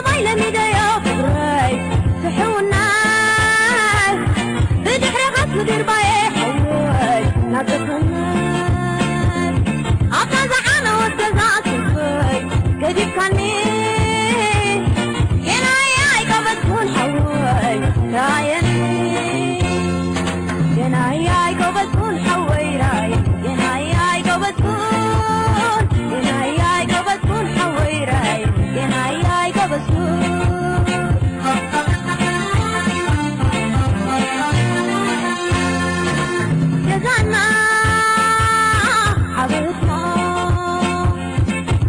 ማይ ለሚደዮ ፍቕረይ ትሕውናይ ብድሕረኻስ ምድርባየ ሓወይ ናብ ዘኽነት ኣብታ ዝዓነወት ገዛ ኣትንኮይ ገዲፍካኒ ጌናይ ኣይቀበጽኩን ሓወይ ራየኒ ጌናይ ኣይቀበጽኩን ሓወይ ራየኒ ጌናይ ኣይቀበጽኩን ጌናይ ኣይቀበጽኩን ሓወይ ራየኒ ጌናይ ኣይቀበጽኩን ገዛና ዓበትና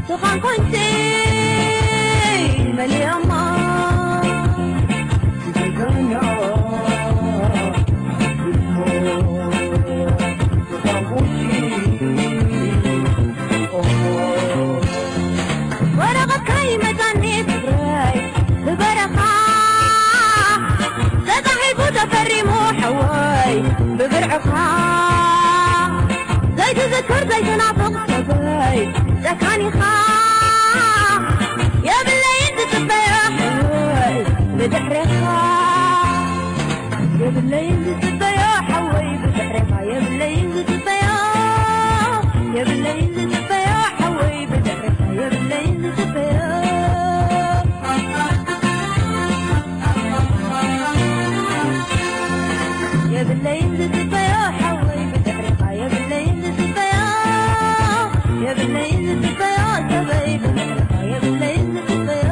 ዝኾንኮንሲ መሊኦሞ ወረቐት ከይመጻኒ ፍቕረይ ብበረኻ ተጻሒፉ ተፈሪሙ ሓወይ ብብርዕኻ ዘይትዝክር ዘይትናፍቕ ሰበይ ጨካኒኻ የብለይን ዝጽበዮ ሓወይ ብድሕሬኻ የብለይን ዝጽበዮ ሓወይ ብድሕሬኻ የብለይን ዝጽበዮ የብለይን ዝጽበዮ ሓወይ ብድሕሬኻ የብለይን ዝጽበዮ የብለይን ዝጽበዮ ሓወይ ብድሕሬኻ የብለይን ዝጽበዮ የብለይን ዝጽበዮ ሰበይ ብድሕሬኻ የብለይን ዝጽበዮ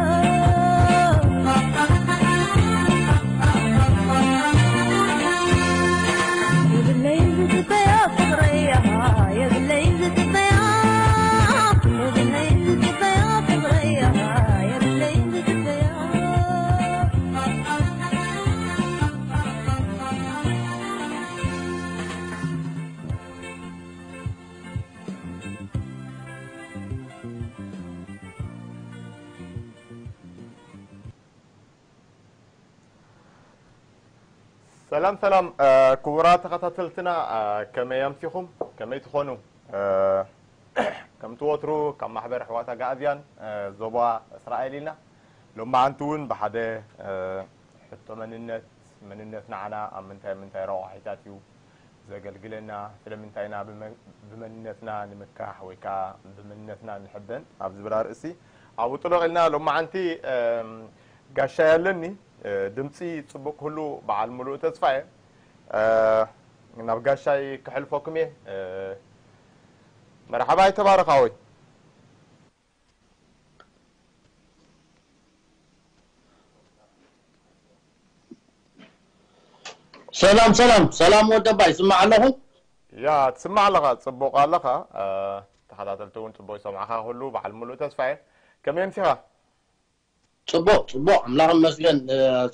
የብለይን ዝጽበዮ ፍቕረይ የብለይን ዝጽበዮ የብለይን ዝጽበዮ ፍቕረይ የብለይን ዝጽበዮ ሰላም ሰላም ክቡራት ተኸታተልትና፣ ከመይ ኣምሲኹም? ከመይ ትኾኑ? ከምቲ ወትሩ ካብ ማሕበር ኣሕዋት ኣጋእዝያን ዞባ እስራኤል ኢና። ሎማዓንቲ እውን ብሓደ ሕቶ መንነት፣ መንነት ንዓና ኣብ ምንታይ ምንታይ ረቋሒታት እዩ ዘገልግለና? ስለምንታይ ኢና ብመንነትና ንምካሕ ወይ ከዓ ብመንነትና ንሕበን ኣብ ዝብል ኣርእሲ ኣብኡ ጥሎቕ ኢልና። ሎማዓንቲ ጋሻይ ኣለኒ፣ ድምፂ ፅቡቅ ክህሉ በዓል ሙሉእ ተስፋ እየ። ናብ ጋሻይ ክሕልፈኩም እየ። መርሓባ ይተባረኻ ወይ ሰላም ሰላም ሰላም ወደባ ይስማዕ ኣለኹ። ያ ትስማዕ ኣለኻ፣ ጽቡቕ ኣለኻ። ተኸታተልቲ እውን ጽቡቕ ይሰምዓኻ፣ ኩሉ በዓል ሙሉእ ተስፋ እየ። ከመይ ኣምሲኻ? ጽቡቕ ጽቡቕ፣ ኣምላኽ ይመስገን።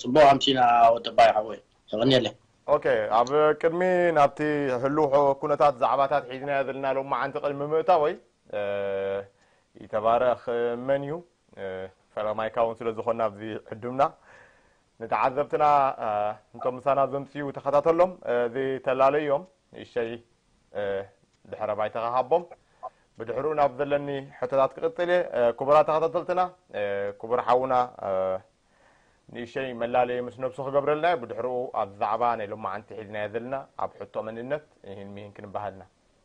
ጽቡቕ ኣምሲና ወደባ ይሓወይ፣ የቐንየለይ። ኦኬ፣ ኣብ ቅድሚ ናብቲ ህሉው ኩነታት ዛዕባታት ሒዝናዮ ዘለና ሎማዓንቲ ቅድሚ ምእታወይ፣ ይተባረኽ መን እዩ? ፈለማይካ እውን ስለ ዝኾንና ኣብዚ ዕዱምና ንተዓዘብትና እንቶም ምሳና ዘምፅኡ ተኸታተሎም። እዚ ተላለዮም ንእሽተይ ድሕረ ባይታ ክሃቦም፣ ብድሕርኡ ናብ ዘለኒ ሕቶታት ክቕፅል እየ። ክቡራት ተኸታተልትና፣ ክቡር ሓውና ንእሽተይ መላለየ ምስ ነብሱ ክገብረልና እዩ። ብድሕርኡ ኣብዚ ዛዕባ ናይ ሎማዓንቲ ሒዝናዮ ዘለና ኣብ ሕቶ መንነት ይህን ሚህን ክንበሃልና።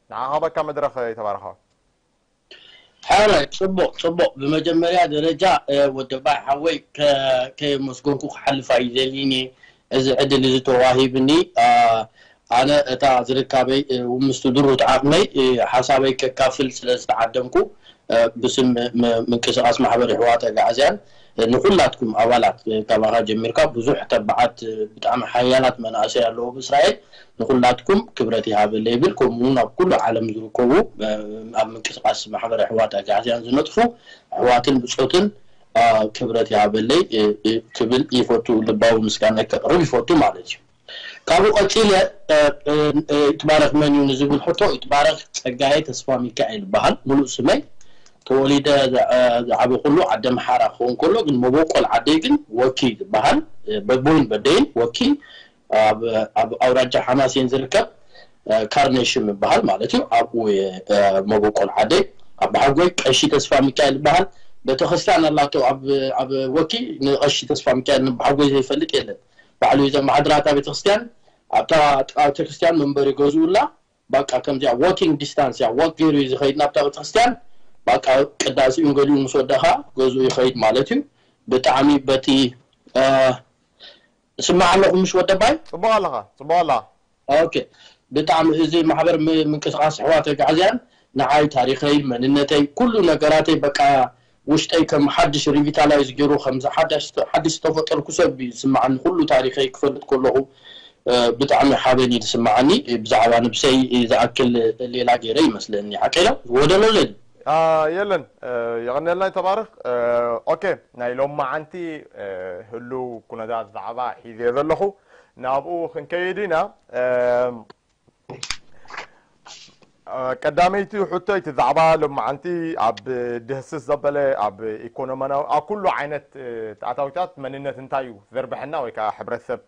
ንዓኻ በካ መድረኽ ይተባረኻዊ። ሕራይ፣ ጽቡቕ ጽቡቕ። ብመጀመርያ ደረጃ ወደባይ ሓወይ ከየመስገንኩ ክሓልፍ ኣይደልን እየ። እዚ ዕድል እዚ ተዋሂብኒ ኣነ እታ ዝርካበይ ምስቲ ድሩት ዓቕመይ ሓሳበይ ከካፍል ስለ ዝተዓደምኩ ብስም ምንቅስቃስ ማሕበር የሕዋት ኣግዓዝያን ንኩላትኩም ኣባላት ካባኻ ጀሚርካ ብዙሕ ተባዓት ብጣዕሚ ሓያላት መናእሰይ ኣለዉ ብእስራኤል ንኹላትኩም ክብረት ይሃበለይ ይብል። ከምኡ እውን ኣብ ኩሉ ዓለም ዝርከቡ ኣብ ምንቅስቃስ ማሕበር ኣሕዋት ኣግዓዝያን ዝነጥፉ ኣሕዋትን ብጾትን ክብረት ይሃበለይ ክብል ይፈቱ፣ ልባዊ ምስጋና ከቕርብ ይፈቱ ማለት እዩ። ካብኡ ቀጺለ ይትባረክ መን እዩ ንዝብል ሕቶ ይትባረክ ጸጋየ ተስፋ ሚካኤል ይበሃል ሙሉእ ስመይ። ተወሊደ ዝዓበኹሉ ዓዲ ኣምሓራ ክኸውን ከሎ ግን መበቆል ዓደይ ግን ወኪ ዝበሃል በቦይን በደይን ወኪ ኣብ ኣውራጃ ሓማሴን ዝርከብ ካርኔሽም ይበሃል ማለት እዩ። ኣብኡ እየ መበቆል ዓደይ። ኣባሓጎይ ቀሺ ተስፋ ሚካኤል ይበሃል። ቤተክርስትያን ኣላቶ ኣብ ኣብ ወኪ ንቐሺ ተስፋ ሚካኤል ንብሓጎይ ዘይፈልጥ የለን። ባዕሉ እዩ ዘመሓድራታ ቤተክርስትያን። ኣብታ ጥቃ ቤተክርስትያን መንበሪ ገዝኡላ። በቃ ከምዚኣ ዋኪንግ ዲስታንስ እያ፣ ዋክ ገይሩ እዩ ዝኸይድ ናብታ ቤተክርስትያን። በቃ ቅዳሴኡን ገሊኡ ምስ ወደኻ ገዝኡ ይኸይድ ማለት እዩ። ብጣዕሚ በቲ ስማዕ ኣለኹ ምሽ ወደባይ። ጽቡቕ ኣለኻ፣ ጽቡቕ ኣለኻ። ኦኬ። ብጣዕሚ እዚ ማሕበር ምንቅስቃስ ኣሕዋት ኣግዓዝያን ንዓይ ታሪኸይ፣ መንነተይ፣ ኩሉ ነገራተይ በቃ ውሽጠይ ከም ሓድሽ ሪቪታላይዝ ገይሩ ከም ሓድሽ ዝተፈጠርኩ ሰብ ይስምዓኒ። ኩሉ ታሪኸይ ክፈልጥ ከለኹ ብጣዕሚ ሓበን እዩ ዝስምዓኒ። ብዛዕባ ነብሰይ ዝኣክል ሌላ ገይረ ይመስለኒ። ሓቀይ ነው ወደሎ ዘል የለን። የቐነልና ተባረኽ። ኦኬ፣ ናይ ሎማዓንቲ ህሉው ኩነታት ዛዕባ ሒዘ ዘለኹ ናብኡ ክንከይድ ኢና። ቀዳመይቲ ሕቶ እቲ ዛዕባ ሎማዓንቲ ኣብ ድህስስ ዘበለ ኣብ ኢኮኖሚያዊ ኣብ ኩሉ ዓይነት ኣታዊታት መንነት እንታይ እዩ ዘርብሐና ወይ ከዓ ሕብረተሰብ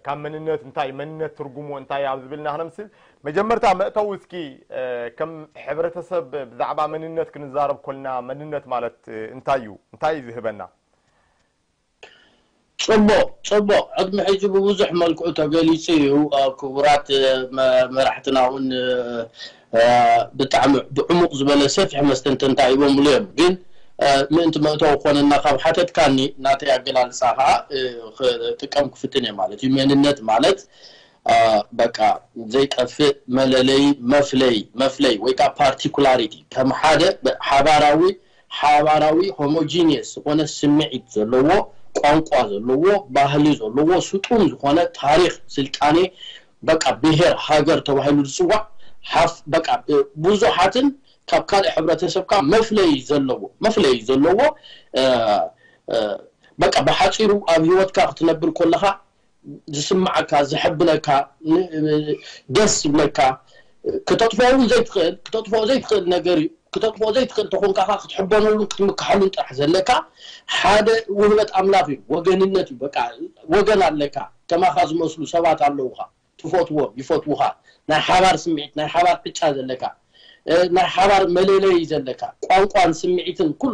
ካብ መንነት እንታይ መንነት ትርጉሙ እንታይ ኣብ ዝብልና ክነምስል መጀመርታ መእተዊ እስኪ ከም ሕብረተሰብ ብዛዕባ መንነት ክንዛረብ ኮልና መንነት ማለት እንታይ እዩ እንታይ እዩ ዝህበና? ጽቡቕ ጽቡቕ ዕድሚ ሕጂ ብብዙሕ መልክዑ ተገሊጹ እዩ። ክቡራት መራሕትና እውን ብጣዕሚ ብዕሙቕ ዝበለ ሰፊሕ መስተንተንታ ሂቦምሉ እዮም። ግን ምእንቲ መእተዊ ክኾነና ካብ ሓተትካኒ ናተይ ኣገላልጻ ከዓ ክጥቀም ክፍትን እየ ማለት እዩ። መንነት ማለት በቃ ዘይጠፍእ መለለይ መፍለይ መፍለይ ወይ ከዓ ፓርቲኩላሪቲ ከም ሓደ ሓባራዊ ሓባራዊ ሆሞጂኒየስ ዝኾነ ስምዒት ዘለዎ ቋንቋ ዘለዎ ባህሊ ዘለዎ ስጡም ዝኾነ ታሪኽ ስልጣኔ በቃ ብሄር ሃገር ተባሂሉ ዝፅዋዕ ሓፍ በቃ ብዙሓትን ካብ ካልእ ሕብረተሰብካ መፍለይ ዘለዎ መፍለይ ዘለዎ በቃ ብሓፂሩ ኣብ ህይወትካ ክትነብር ከለኻ ዝስምዓካ ዘሐብነካ ደስ ዝብለካ ክተጥፍኦ እውን ዘይትኽእል ክተጥፍኦ ዘይትኽእል ነገር እዩ። ክተጥፍኦ ዘይትኽእል ተኾንካ ክትሕበነሉን ክትምክሓሉን ጥራሕ ዘለካ ሓደ ውህበት ኣምላኽ እዩ። ወገንነት እዩ። በቃ ወገን ኣለካ። ከማኻ ዝመስሉ ሰባት ኣለውኻ። ትፈትዎም ይፈትውኻ። ናይ ሓባር ስምዒት ናይ ሓባር ዕጫ ዘለካ ናይ ሓባር መለለይ ዘለካ ቋንቋን ስምዒትን ኩሉ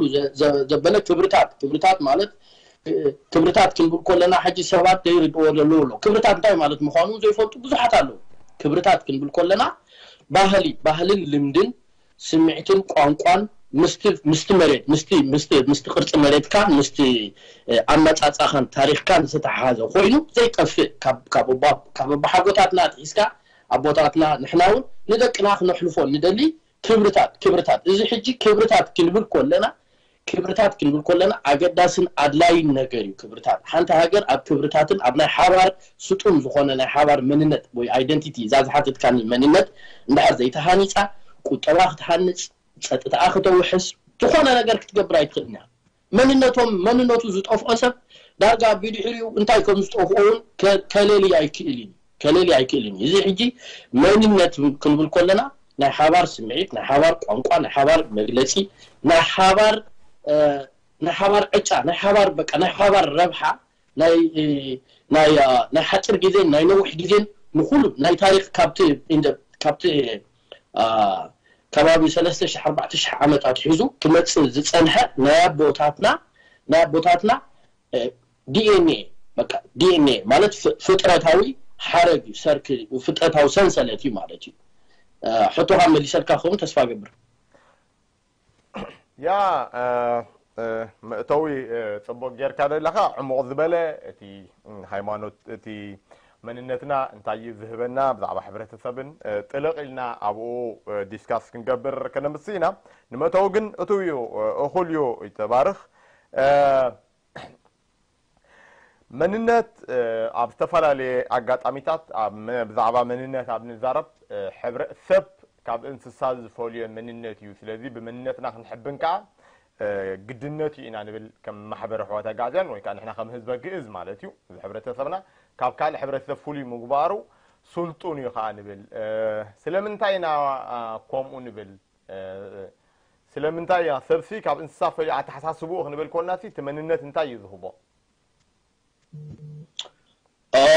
ዘበለ ክብርታት ክብርታት ማለት ክብርታት ክንብል ከለና ሕጂ ሰባት ዘይርድዎ ዘለዉ ኣሎ። ክብርታት እንታይ ማለት ምዃኑ ዘይፈልጡ ብዙሓት ኣለዉ። ክብርታት ክንብል ከለና ባህሊ ባህልን ልምድን ስምዒትን ቋንቋን ምስቲ ምስቲ መሬት ምስቲ ምስቲ ምስቲ ቅርጺ መሬትካ ምስቲ ኣመጻጻኻን ታሪኽካን ዝተሓሓዘ ኮይኑ ዘይጠፍእ ካብ ካብ ኣቦሓጎታትና ኣትሒዝካ ኣቦታትና ንሕና እውን ንደቅና ክነሕልፎ ንደሊ ክብርታት ክብርታት እዚ ሕጂ ክብርታት ክንብል ከለና ክብርታት ክንብል ከለና ኣገዳስን ኣድላይን ነገር እዩ። ክብርታት ሓንቲ ሃገር ኣብ ክብርታትን ኣብ ናይ ሓባር ስጡም ዝኾነ ናይ ሓባር መንነት ወይ ኣይደንቲቲ እዛ ዝሓተትካኒ መንነት እንድሕር ዘይተሃኒፃ ቁጠባ ክትሃንፅ፣ ፀጥታኣ ክተውሕስ፣ ዝኾነ ነገር ክትገብር ኣይትኽእልን እያ። መንነቶም መንነቱ ዝጠፍኦ ሰብ ዳርጋ ብድሕሪኡ እንታይ ከም ዝጠፍኦ እውን ከለሊ ኣይክእል እዩ። ከለሊ ኣይክእልን እዩ። እዚ ሕጂ መንነት ክንብል ከለና ናይ ሓባር ስምዒት፣ ናይ ሓባር ቋንቋ፣ ናይ ሓባር መግለፂ፣ ናይ ሓባር ናይ ሓባር ዕጫ፣ ናይ ሓባር በቃ ናይ ሓባር ረብሓ ናይ ናይ ናይ ሓፂር ግዜን ናይ ነዊሕ ግዜን ንኩሉ ናይ ታሪክ ካብቲ ካብቲ ከባቢ ሰለስተ ሺሕ ኣርባዕተ ሺሕ ዓመት ኣትሒዙ ክመፅእ ዝፀንሐ ናይ ኣቦታትና ናይ ኣቦታትና ዲኤንኤ በቃ ዲኤንኤ ማለት ፍጥረታዊ ሓረግ እዩ ሰርክ ፍጥረታዊ ሰንሰለት እዩ ማለት እዩ። ሕቶኻ መሊሰልካ ክኸውን ተስፋ ገብር። ያ መእተዊ ፅቡቅ ጌርካ ዘለካ ዕሙቕ ዝበለ እቲ ሃይማኖት እቲ መንነትና እንታይ እዩ ዝህበና ብዛዕባ ሕብረተሰብን ጥልቕ ኢልና ኣብኡ ዲስካስ ክንገብር ከነምስ ኢና። ንመእተዊ ግን እቱ እዩ እኹል እዩ ይተባርኽ። መንነት ኣብ ዝተፈላለየ ኣጋጣሚታት ብዛዕባ መንነት ኣብ ንዛረብ ሕብረተሰብ ካብ እንስሳ ዝፈልዮ መንነት እዩ። ስለዚ ብመንነትና ክንሕብን ከዓ ግድነት እዩ ኢና ንብል ከም ማሕበረ ኣሕዋት ኣጋዝያን ወይ ከዓ ንሕና ከም ህዝበ ግእዝ ማለት እዩ። እዚ ሕብረተሰብና ካብ ካልእ ሕብረተሰብ ፍሉይ ምግባሩ ስልጡን እዩ ከዓ ንብል። ስለምንታይ ኢና ከምኡ ንብል? ስለምንታይ እያ ሰብሲ ካብ እንስሳ ፈልዩ ኣተሓሳስብኡ ክንብል ኮልና እቲ መንነት እንታይ እዩ ዝህቦ?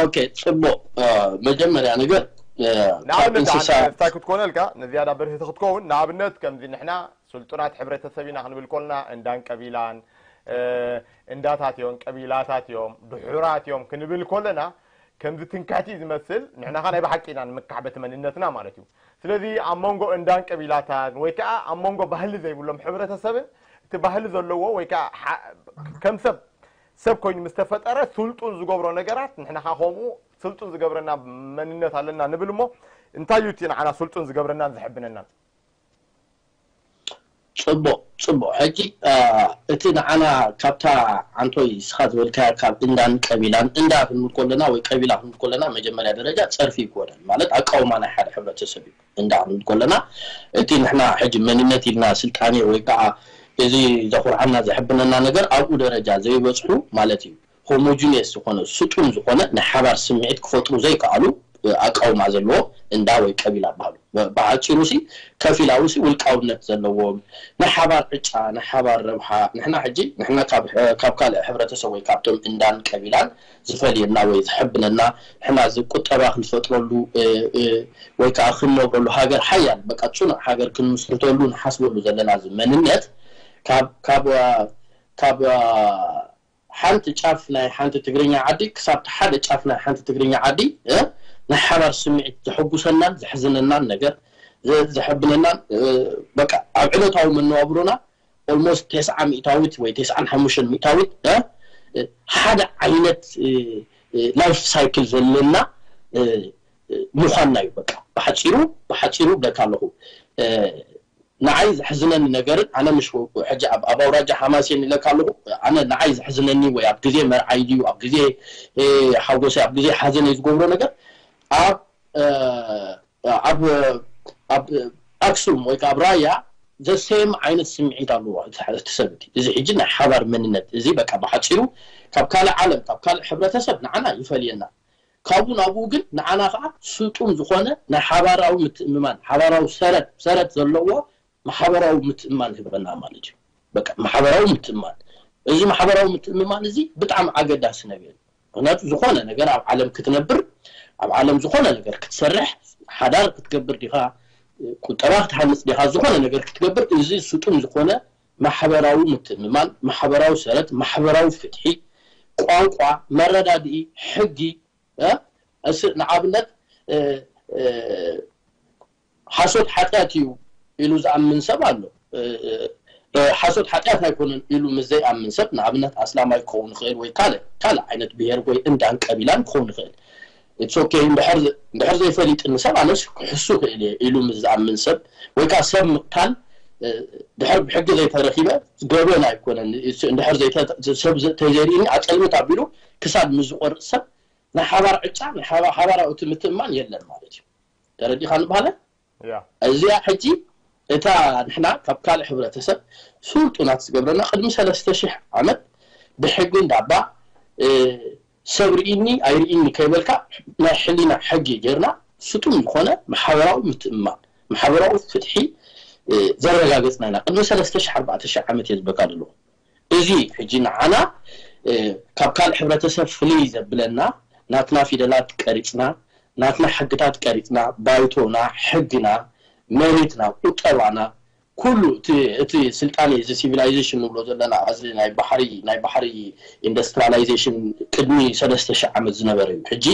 ኦኬ ጽቡቅ። መጀመርያ ነገር ካብ ንኣብነት እንስሳ እንታይ ክትኮነልካ ንዝያዳ ብርህቲ ክትከውን ንኣብነት ከምዚ ንሕና ስልጡናት ሕብረተሰብ ኢና ክንብል ኮልና እንዳን ቀቢላን እንዳታት እዮም፣ ቀቢላታት እዮም፣ ድሑራት እዮም ክንብል ኮለና ከምዚ ትንክሕቲ ዝመስል፣ ንሕና ኸ ናይ ብሓቂ ኢና ንምካሕ በቲ መንነትና ማለት እዩ። ስለዚ ኣብ መንጎ እንዳን ቀቢላታን ወይ ከዓ ኣብ መንጎ ባህሊ ዘይብሎም ሕብረተሰብን እቲ ባህሊ ዘለዎ ወይ ከዓ ከም ሰብ ሰብ ኮይኑ ምስ ተፈጠረ ስልጡን ዝገብሮ ነገራት ንሕና ኸ ከምኡ ስልጡን ዝገብረና መንነት ኣለና ንብል እሞ እንታይ እዩ እቲ ንዓና ስልጡን ዝገብረናን ዝሕብነናን? ፅቡቕ ፅቡቕ። ሕጂ እቲ ንዓና ካብታ ዓንቶይ እስኻ ዝበልካያ ካብ እንዳን ቀቢላን፣ እንዳ ክንብል ከለና ወይ ቀቢላ ክንብል ከለና መጀመርያ ደረጃ ፀርፊ ይኮነን፣ ማለት ኣቃውማ ናይ ሓደ ሕብረተሰብ እዩ። እንዳ ክንብል ከለና እቲ ንሕና ሕጂ መንነት ኢልና ስልጣኔ ወይ ከዓ እዚ ዘኹርዓና ዘሕብነና ነገር ኣብኡ ደረጃ ዘይበፅሑ ማለት እዩ። ሆሞጂኒየስ ዝኾነ ስጡም ዝኾነ ናይ ሓባር ስምዒት ክፈጥሩ ዘይከኣሉ ኣቃውማ ዘለዎ እንዳ ወይ ቀቢላ በሃሉ። ብሓፂሩ ሲ ከፊላዊ ሲ ውልቃውነት ዘለዎም ናይ ሓባር ዕጫ ናይ ሓባር ረብሓ ንሕና ሕጂ ንሕና ካብ ካልእ ሕብረተሰብ ወይ ካብቶም እንዳን ቀቢላን ዝፈልየና ወይ ዝሕብነና ንሕና እዚ ቁጠባ ክንፈጥረሉ ወይ ከዓ ክንነብረሉ ሃገር ሓያል በቃ ፅኑዕ ሃገር ክንምስርተሉ ንሓስበሉ ዘለና እዚ መንነት ካብ ካብ ካብ ሓንቲ ጫፍ ናይ ሓንቲ ትግርኛ ዓዲ ክሳብ ሓደ ጫፍ ናይ ሓንቲ ትግርኛ ዓዲ ናይ ሓባር ስምዒት ዘሐጉሰናን ዘሕዝነናን ነገር ዘሕብነናን በቃ ኣብ ዕለታዊ መነባብሮና ኦልሞስት ተስዓ ሚእታዊት ወይ ተስዓን ሓሙሽተን ሚእታዊት ሓደ ዓይነት ላይፍ ሳይክል ዘለና ምዃንና እዩ። በቃ ብሓፂሩ ብሓፂሩ ብለካ ኣለኹ። ንዓይ ዘሕዝነኒ ነገርን ኣነ ምሽ ሕጂ ኣብ ኣውራጃ ሓማሴን ኢለካ ኣለኹ። ኣነ ንዓይ ዘሕዝነኒ ወይ ኣብ ግዜ መርዓይ ድዩ ኣብ ግዜ ሓጎሰይ ኣብ ግዜ ሓዘነይ ዝገብሮ ነገር ኣብ ኣብ ኣብ ኣክሱም ወይ ከዓ ኣብ ራያ ዘሰም ዓይነት ስምዒት ኣለዎ እቲ ሰብ እቲ። እዚ ሕጂ ናይ ሓባር መንነት እዚ በቃ ብሓፂሩ ካብ ካልእ ዓለም ካብ ካልእ ሕብረተሰብ ንዓና ይፈልየና። ካብኡ ናብኡ ግን ንዓና ከዓ ስጡም ዝኾነ ናይ ሓባራዊ ምትእምማን ሓባራዊ ሰረት ሰረት ዘለዎ ማሕበራዊ ምትእምማን ይህበና ማለት እዩ። በቃ ማሕበራዊ ምትእምማን እዚ ማሕበራዊ ምትእምማን እዚ ብጣዕሚ ኣገዳሲ ነገር እዩ። ምክንያቱ ዝኾነ ነገር ኣብ ዓለም ክትነብር ኣብ ዓለም ዝኾነ ነገር ክትሰርሕ ሓዳር ክትገብር ዲኻ ቁጠባ ክትሃንፅ ዲኻ ዝኾነ ነገር ክትገብር እዚ ስጡም ዝኾነ ማሕበራዊ ምትእምማን ማሕበራዊ ሰረት ማሕበራዊ ፍትሒ ቋንቋ መረዳድኢ ሕጊ ንኣብነት ሓሶት ሓጢኣት እዩ ኢሉ ዝኣምን ሰብ ኣሎ። ሓሶት ሓጢኣት ኣይኮነን ኢሉ ምስ ዘይኣምን ሰብ ንኣብነት ኣስላማይ ክኸውን ይኽእል ወይ ካልእ ካልእ ዓይነት ብሄር ወይ እንዳን ቀቢላን ክኸውን ይኽእል። ኢትስ ኦኬ እንድሕር ዘይፈሊጥኒ ሰብ ኣነስ ክሕሱ ክእል እየ ኢሉ ምስ ዝኣምን ሰብ ወይ ከዓ ሰብ ምቕታል ድሕር ብሕጊ ዘይተረኪበ ገበን ኣይኮነን እንድሕር ሰብ ተዘይርእኒ ኣፀልምት ኣቢሉ ክሳድ ምስ ዝቆርፅ ሰብ ናይ ሓባር ዕጫ ናይ ሓባራዊ እቲ ምትእማን የለን ማለት እዩ። ተረዲኻ ንባህለ እዚኣ ሕጂ እታ ንሕና ካብ ካልእ ሕብረተሰብ ስልጡናት ዝገብረና ቅድሚ ሰለስተ ሽሕ ዓመት ብሕጊ እንዳባ ሰብ ርኢኒ ኣይርኢኒ ከይበልካ ናይ ሕሊና ሕጊ ጌርና ስጡም ዝኾነ ማሕበራዊ ምትእማን ማሕበራዊ ፍትሒ ዘረጋገፅና ኢና። ቅድሚ ሰለስተ ሽሕ ኣርባዕተ ሽሕ ዓመት እየ ዝበካ ዘለኹ። እዚ ሕጂ ንዓና ካብ ካልእ ሕብረተሰብ ፍልይ ዘብለና ናትና ፊደላት ቀሪፅና ናትና ሕግታት ቀሪፅና ባይቶና ሕግና መሬትና ቁጠባና ኩሉ እቲ ስልጣኔ እዚ ሲቪላይዜሽን ንብሎ ዘለና እዚ ናይ ባሕሪ ናይ ባሕሪ ኢንዱስትሪላይዜሽን ቅድሚ ሰለስተ ሽሕ ዓመት ዝነበረ እዩ። ሕጂ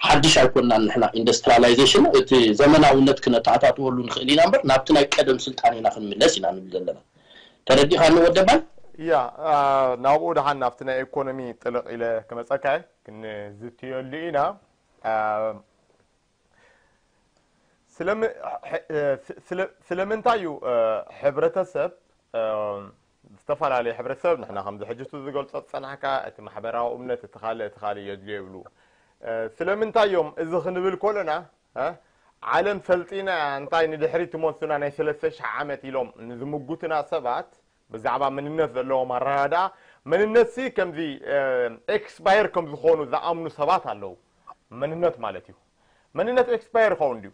ሓድሽ ኣይኮንናን ንሕና ኢንዱስትሪላይዜሽን እቲ ዘመናውነት ክነተኣታትወሉ ንኽእል ኢና እምበር ናብቲ ናይ ቀደም ስልጣኔና ክንምለስ ኢና ንብል ዘለና። ተረዲኻኒ ወደባይ? ያ ናብኡ ደሓን ናብቲ ናይ ኢኮኖሚ ጥልቕ ኢለ ክመፀካ ክንዝትየሉ ኢና። ስለምንታይ እዩ ሕብረተሰብ ዝተፈላለየ ሕብረተሰብ ንሕና ከምዚ ሕጅቱ ዝገልፆ ዝፀናሕካ እቲ ማሕበራዊ እምነት እቲ ካልእ እቲ ካልእ የድልዮ ይብሉ። ስለምንታይ እዮም እዚ ክንብል ከለና ዓለም ሰልጢና እንታይ ንድሕሪ ትመልሱና ናይ ሰለስተ ሽሕ ዓመት ኢሎም ንዝምጉትና ሰባት ብዛዕባ መንነት ዘለዎም ኣረዳድኣ መንነትሲ ከምዚ ኤክስፓየር ከም ዝኾኑ ዝኣምኑ ሰባት ኣለዉ። መንነት ማለት እዩ። መንነት ኤክስፓየር ይኸውን ድዩ?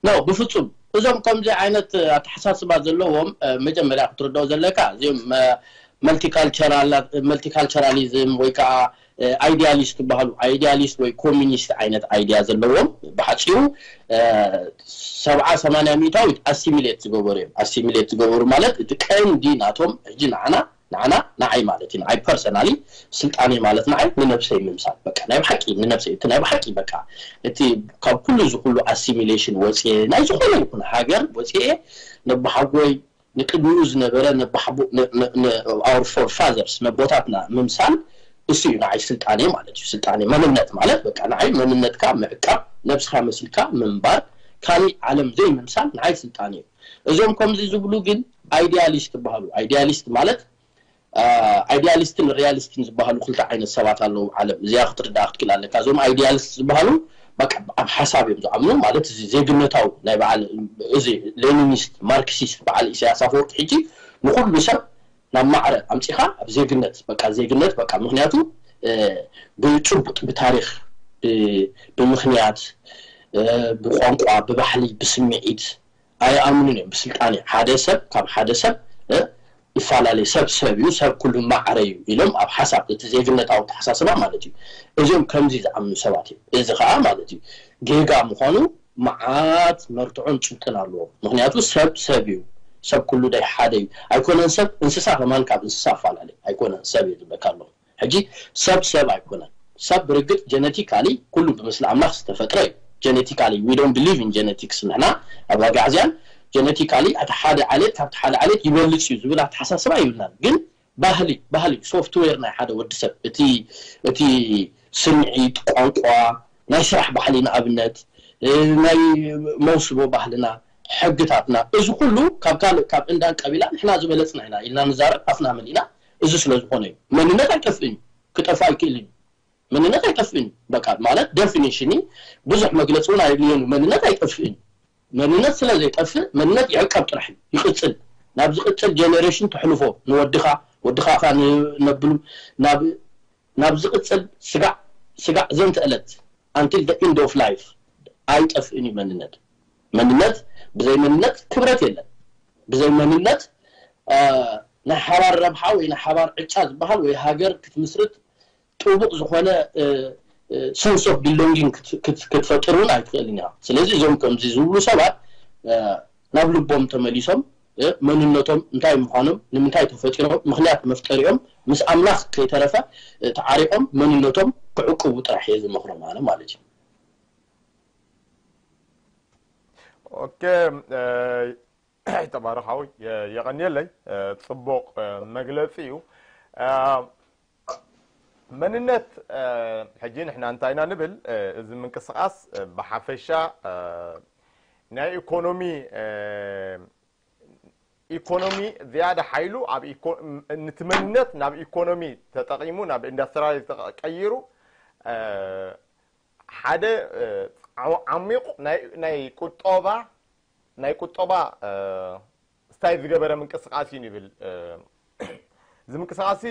ኖ ብፍፁም እዞም ከምዚ ዓይነት ኣተሓሳስባ ዘለዎም መጀመርያ ክትርድኦ ዘለካ እዚኦም መልቲካልቸራሊዝም ወይ ከዓ ኣይዲያሊስት ዝበሃሉ፣ ኣይዲያሊስት ወይ ኮሚኒስት ዓይነት ኣይዲያ ዘለዎም፣ ብሓፂሩ ሰብዓ ሰማንያ ሚእታዊት ኣሲሚሌት ዝገበሩ እዮም። ኣሲሚሌት ዝገበሩ ማለት እቲ ቀንዲ ናቶም ሕጂ ንዓና ንዓና ንዓይ ማለት እዩ። ንዓይ ፐርሰናሊ ስልጣኔ ማለት ንዓይ ንነብሰይ ምምሳል፣ በቃ ናይ ብሓቂ ንነብሰይ፣ እቲ ናይ ብሓቂ በቃ እቲ ካብ ኩሉ እዚ ኩሉ ኣሲሚሌሽን ወፅኤ፣ ናይ ዝኾነ ይኹን ሃገር ወፅኤ፣ ነባሓጎይ፣ ንቅድሚኡ ዝነበረ ነባሓቦ፣ our forefathers፣ ነቦታትና ምምሳል፣ እሱ እዩ ንዓይ ስልጣኔ ማለት እዩ። ስልጣኔ መንነት ማለት በቃ ንዓይ መንነትካ ምዕቃብ፣ ነብስካ መሲልካ ምንባር፣ ካሊእ ዓለም ዘይምምሳል ንዓይ ስልጣኔ እዩ። እዞም ከምዚ ዝብሉ ግን ኣይዲያሊስት ይበሃሉ። ኣይዲያሊስት ማለት ኣይዲያሊስትን ሪያሊስትን ዝበሃሉ ክልተ ዓይነት ሰባት ኣለዉ ኣብ ዓለም። እዚኣ ክትርዳእ ክትክእል ኣለካ። እዞም ኣይዲያሊስት ዝበሃሉ በቃ ኣብ ሓሳብ እዮም ዝኣምኑ፣ ማለት እዚ ዜግነታዊ ናይ በዓል፣ እዚ ሌኒኒስት ማርክሲስት በዓል ኢሳያስ ኣፈወርቂ ሕጂ ንኩሉ ሰብ ናብ ማዕረ ኣምፂኻ ኣብ ዜግነት፣ በቃ ዜግነት በቃ፣ ምክንያቱ ብጭቡጥ ብታሪክ፣ ብምክንያት፣ ብቋንቋ፣ ብባህሊ፣ ብስምዒት ኣይኣምኑን እዮም። ብስልጣኔ ሓደ ሰብ ካብ ሓደ ሰብ ይፈላለ፣ ሰብ ሰብ እዩ፣ ሰብ ኩሉ ማዕረ እዩ ኢሎም ኣብ ሓሳብ እቲ ዜግነታዊ ኣተሓሳስባ ማለት እዩ። እዚኦም ከምዚ ዝኣምኑ ሰባት እዮም። እዚ ከዓ ማለት እዩ ጌጋ ምዃኑ መዓት መርትዖን ጭብጥን ኣለዎ። ምክንያቱ ሰብ ሰብ እዩ፣ ሰብ ኩሉ ዳይ ሓደ እዩ። ኣይኮነን ሰብ፣ እንስሳ ከማን ካብ እንስሳ ኣፈላለ ኣይኮነን ሰብ እዩ ዝብለካ ኣለኹ። ሕጂ ሰብ ሰብ ኣይኮነን። ሰብ ብርግጥ ጀነቲካሊ ኩሉ ብምስሊ ኣምላኽ ዝተፈጥረ እዩ። ጀነቲካሊ፣ we don't believe in genetics ንሕና ኣብ ኣጋዕዝያን። ጀነቲካሊ እቲ ሓደ ዓሌት ካብቲ ሓደ ዓሌት ይበልፅ እዩ ዝብል ኣተሓሳስባ ይብልናን። ግን ባህሊ ባህሊ ሶፍትዌር ናይ ሓደ ወዲ ሰብ፣ እቲ እቲ ስምዒት፣ ቋንቋ፣ ናይ ስራሕ ባህሊ ንኣብነት፣ ናይ መውስቦ ባህልና፣ ሕግታትና፣ እዚ ኩሉ ካብ ካልእ ካብ እንዳን ቀቢላ ንሕና ዝበለፅና ኢና ኢልና ንዛረብ ኣፍና መሊእና። እዚ ስለ ዝኾነ እዩ። መንነት ኣይጠፍእን እዩ፣ ክጠፍእ ኣይክእልን እዩ። መንነት ኣይጠፍእን እዩ። በቃ ማለት ዴፊኒሽኒ ብዙሕ መግለፂ እውን ኣየድልዮን እዩ። መንነት ኣይጠፍእን እዩ። መንነት ስለ ዘይጠፍእ መንነት ይዕቀብ ጥራሕ እዩ፣ ይቕፅል። ናብ ዝቕፅል ጀነሬሽን ተሕልፎ፣ ንወድኻ፣ ወድኻ ኻ ንነብሉ ናብ ናብ ዝቕፅል ስጋዕ ስጋዕ ዘንተ ዕለት፣ until the end of life ኣይጠፍእን እዩ መንነት። መንነት ብዘይ መንነት ክብረት የለን። ብዘይ መንነት ናይ ሓባር ረብሓ ወይ ናይ ሓባር ዕጫ ዝበሃል ወይ ሃገር ክትምስርት ጥቡቕ ዝኾነ sense of belonging ክትፈጥር እውን ኣይትኽእልን ኢኻ። ስለዚ እዞም ከምዚ ዝብሉ ሰባት ናብ ልቦም ተመሊሶም መንነቶም እንታይ ምዃኖም፣ ንምንታይ ተፈጢሮም፣ ምኽንያት መፍጠሪኦም ምስ ኣምላኽ ከይተረፈ ተዓሪቖም መንነቶም ክዕቅቡ ጥራሕ እየ ዝመኽሮም ኣነ ማለት እዩ። ኦኬ፣ ተባረኻዊ፣ የቐንየለይ። ጽቡቕ መግለጺ እዩ። መንነት ሕጂ ንሕና እንታይ ኢና ንብል? እዚ ምንቅስቃስ ብሓፈሻ ናይ ኢኮኖሚ ኢኮኖሚ ዝያዳ ሓይሉ ኣብ ነቲ መንነት ናብ ኢኮኖሚ ተጠቂሙ ናብ ኢንዳስትሪያል ቀይሩ ሓደ ዓሚቕ ናይ ቁጠባ ናይ ቁጠባ ስታይል ዝገበረ ምንቅስቃስ እዩ ንብል። እዚ ምንቅስቃስ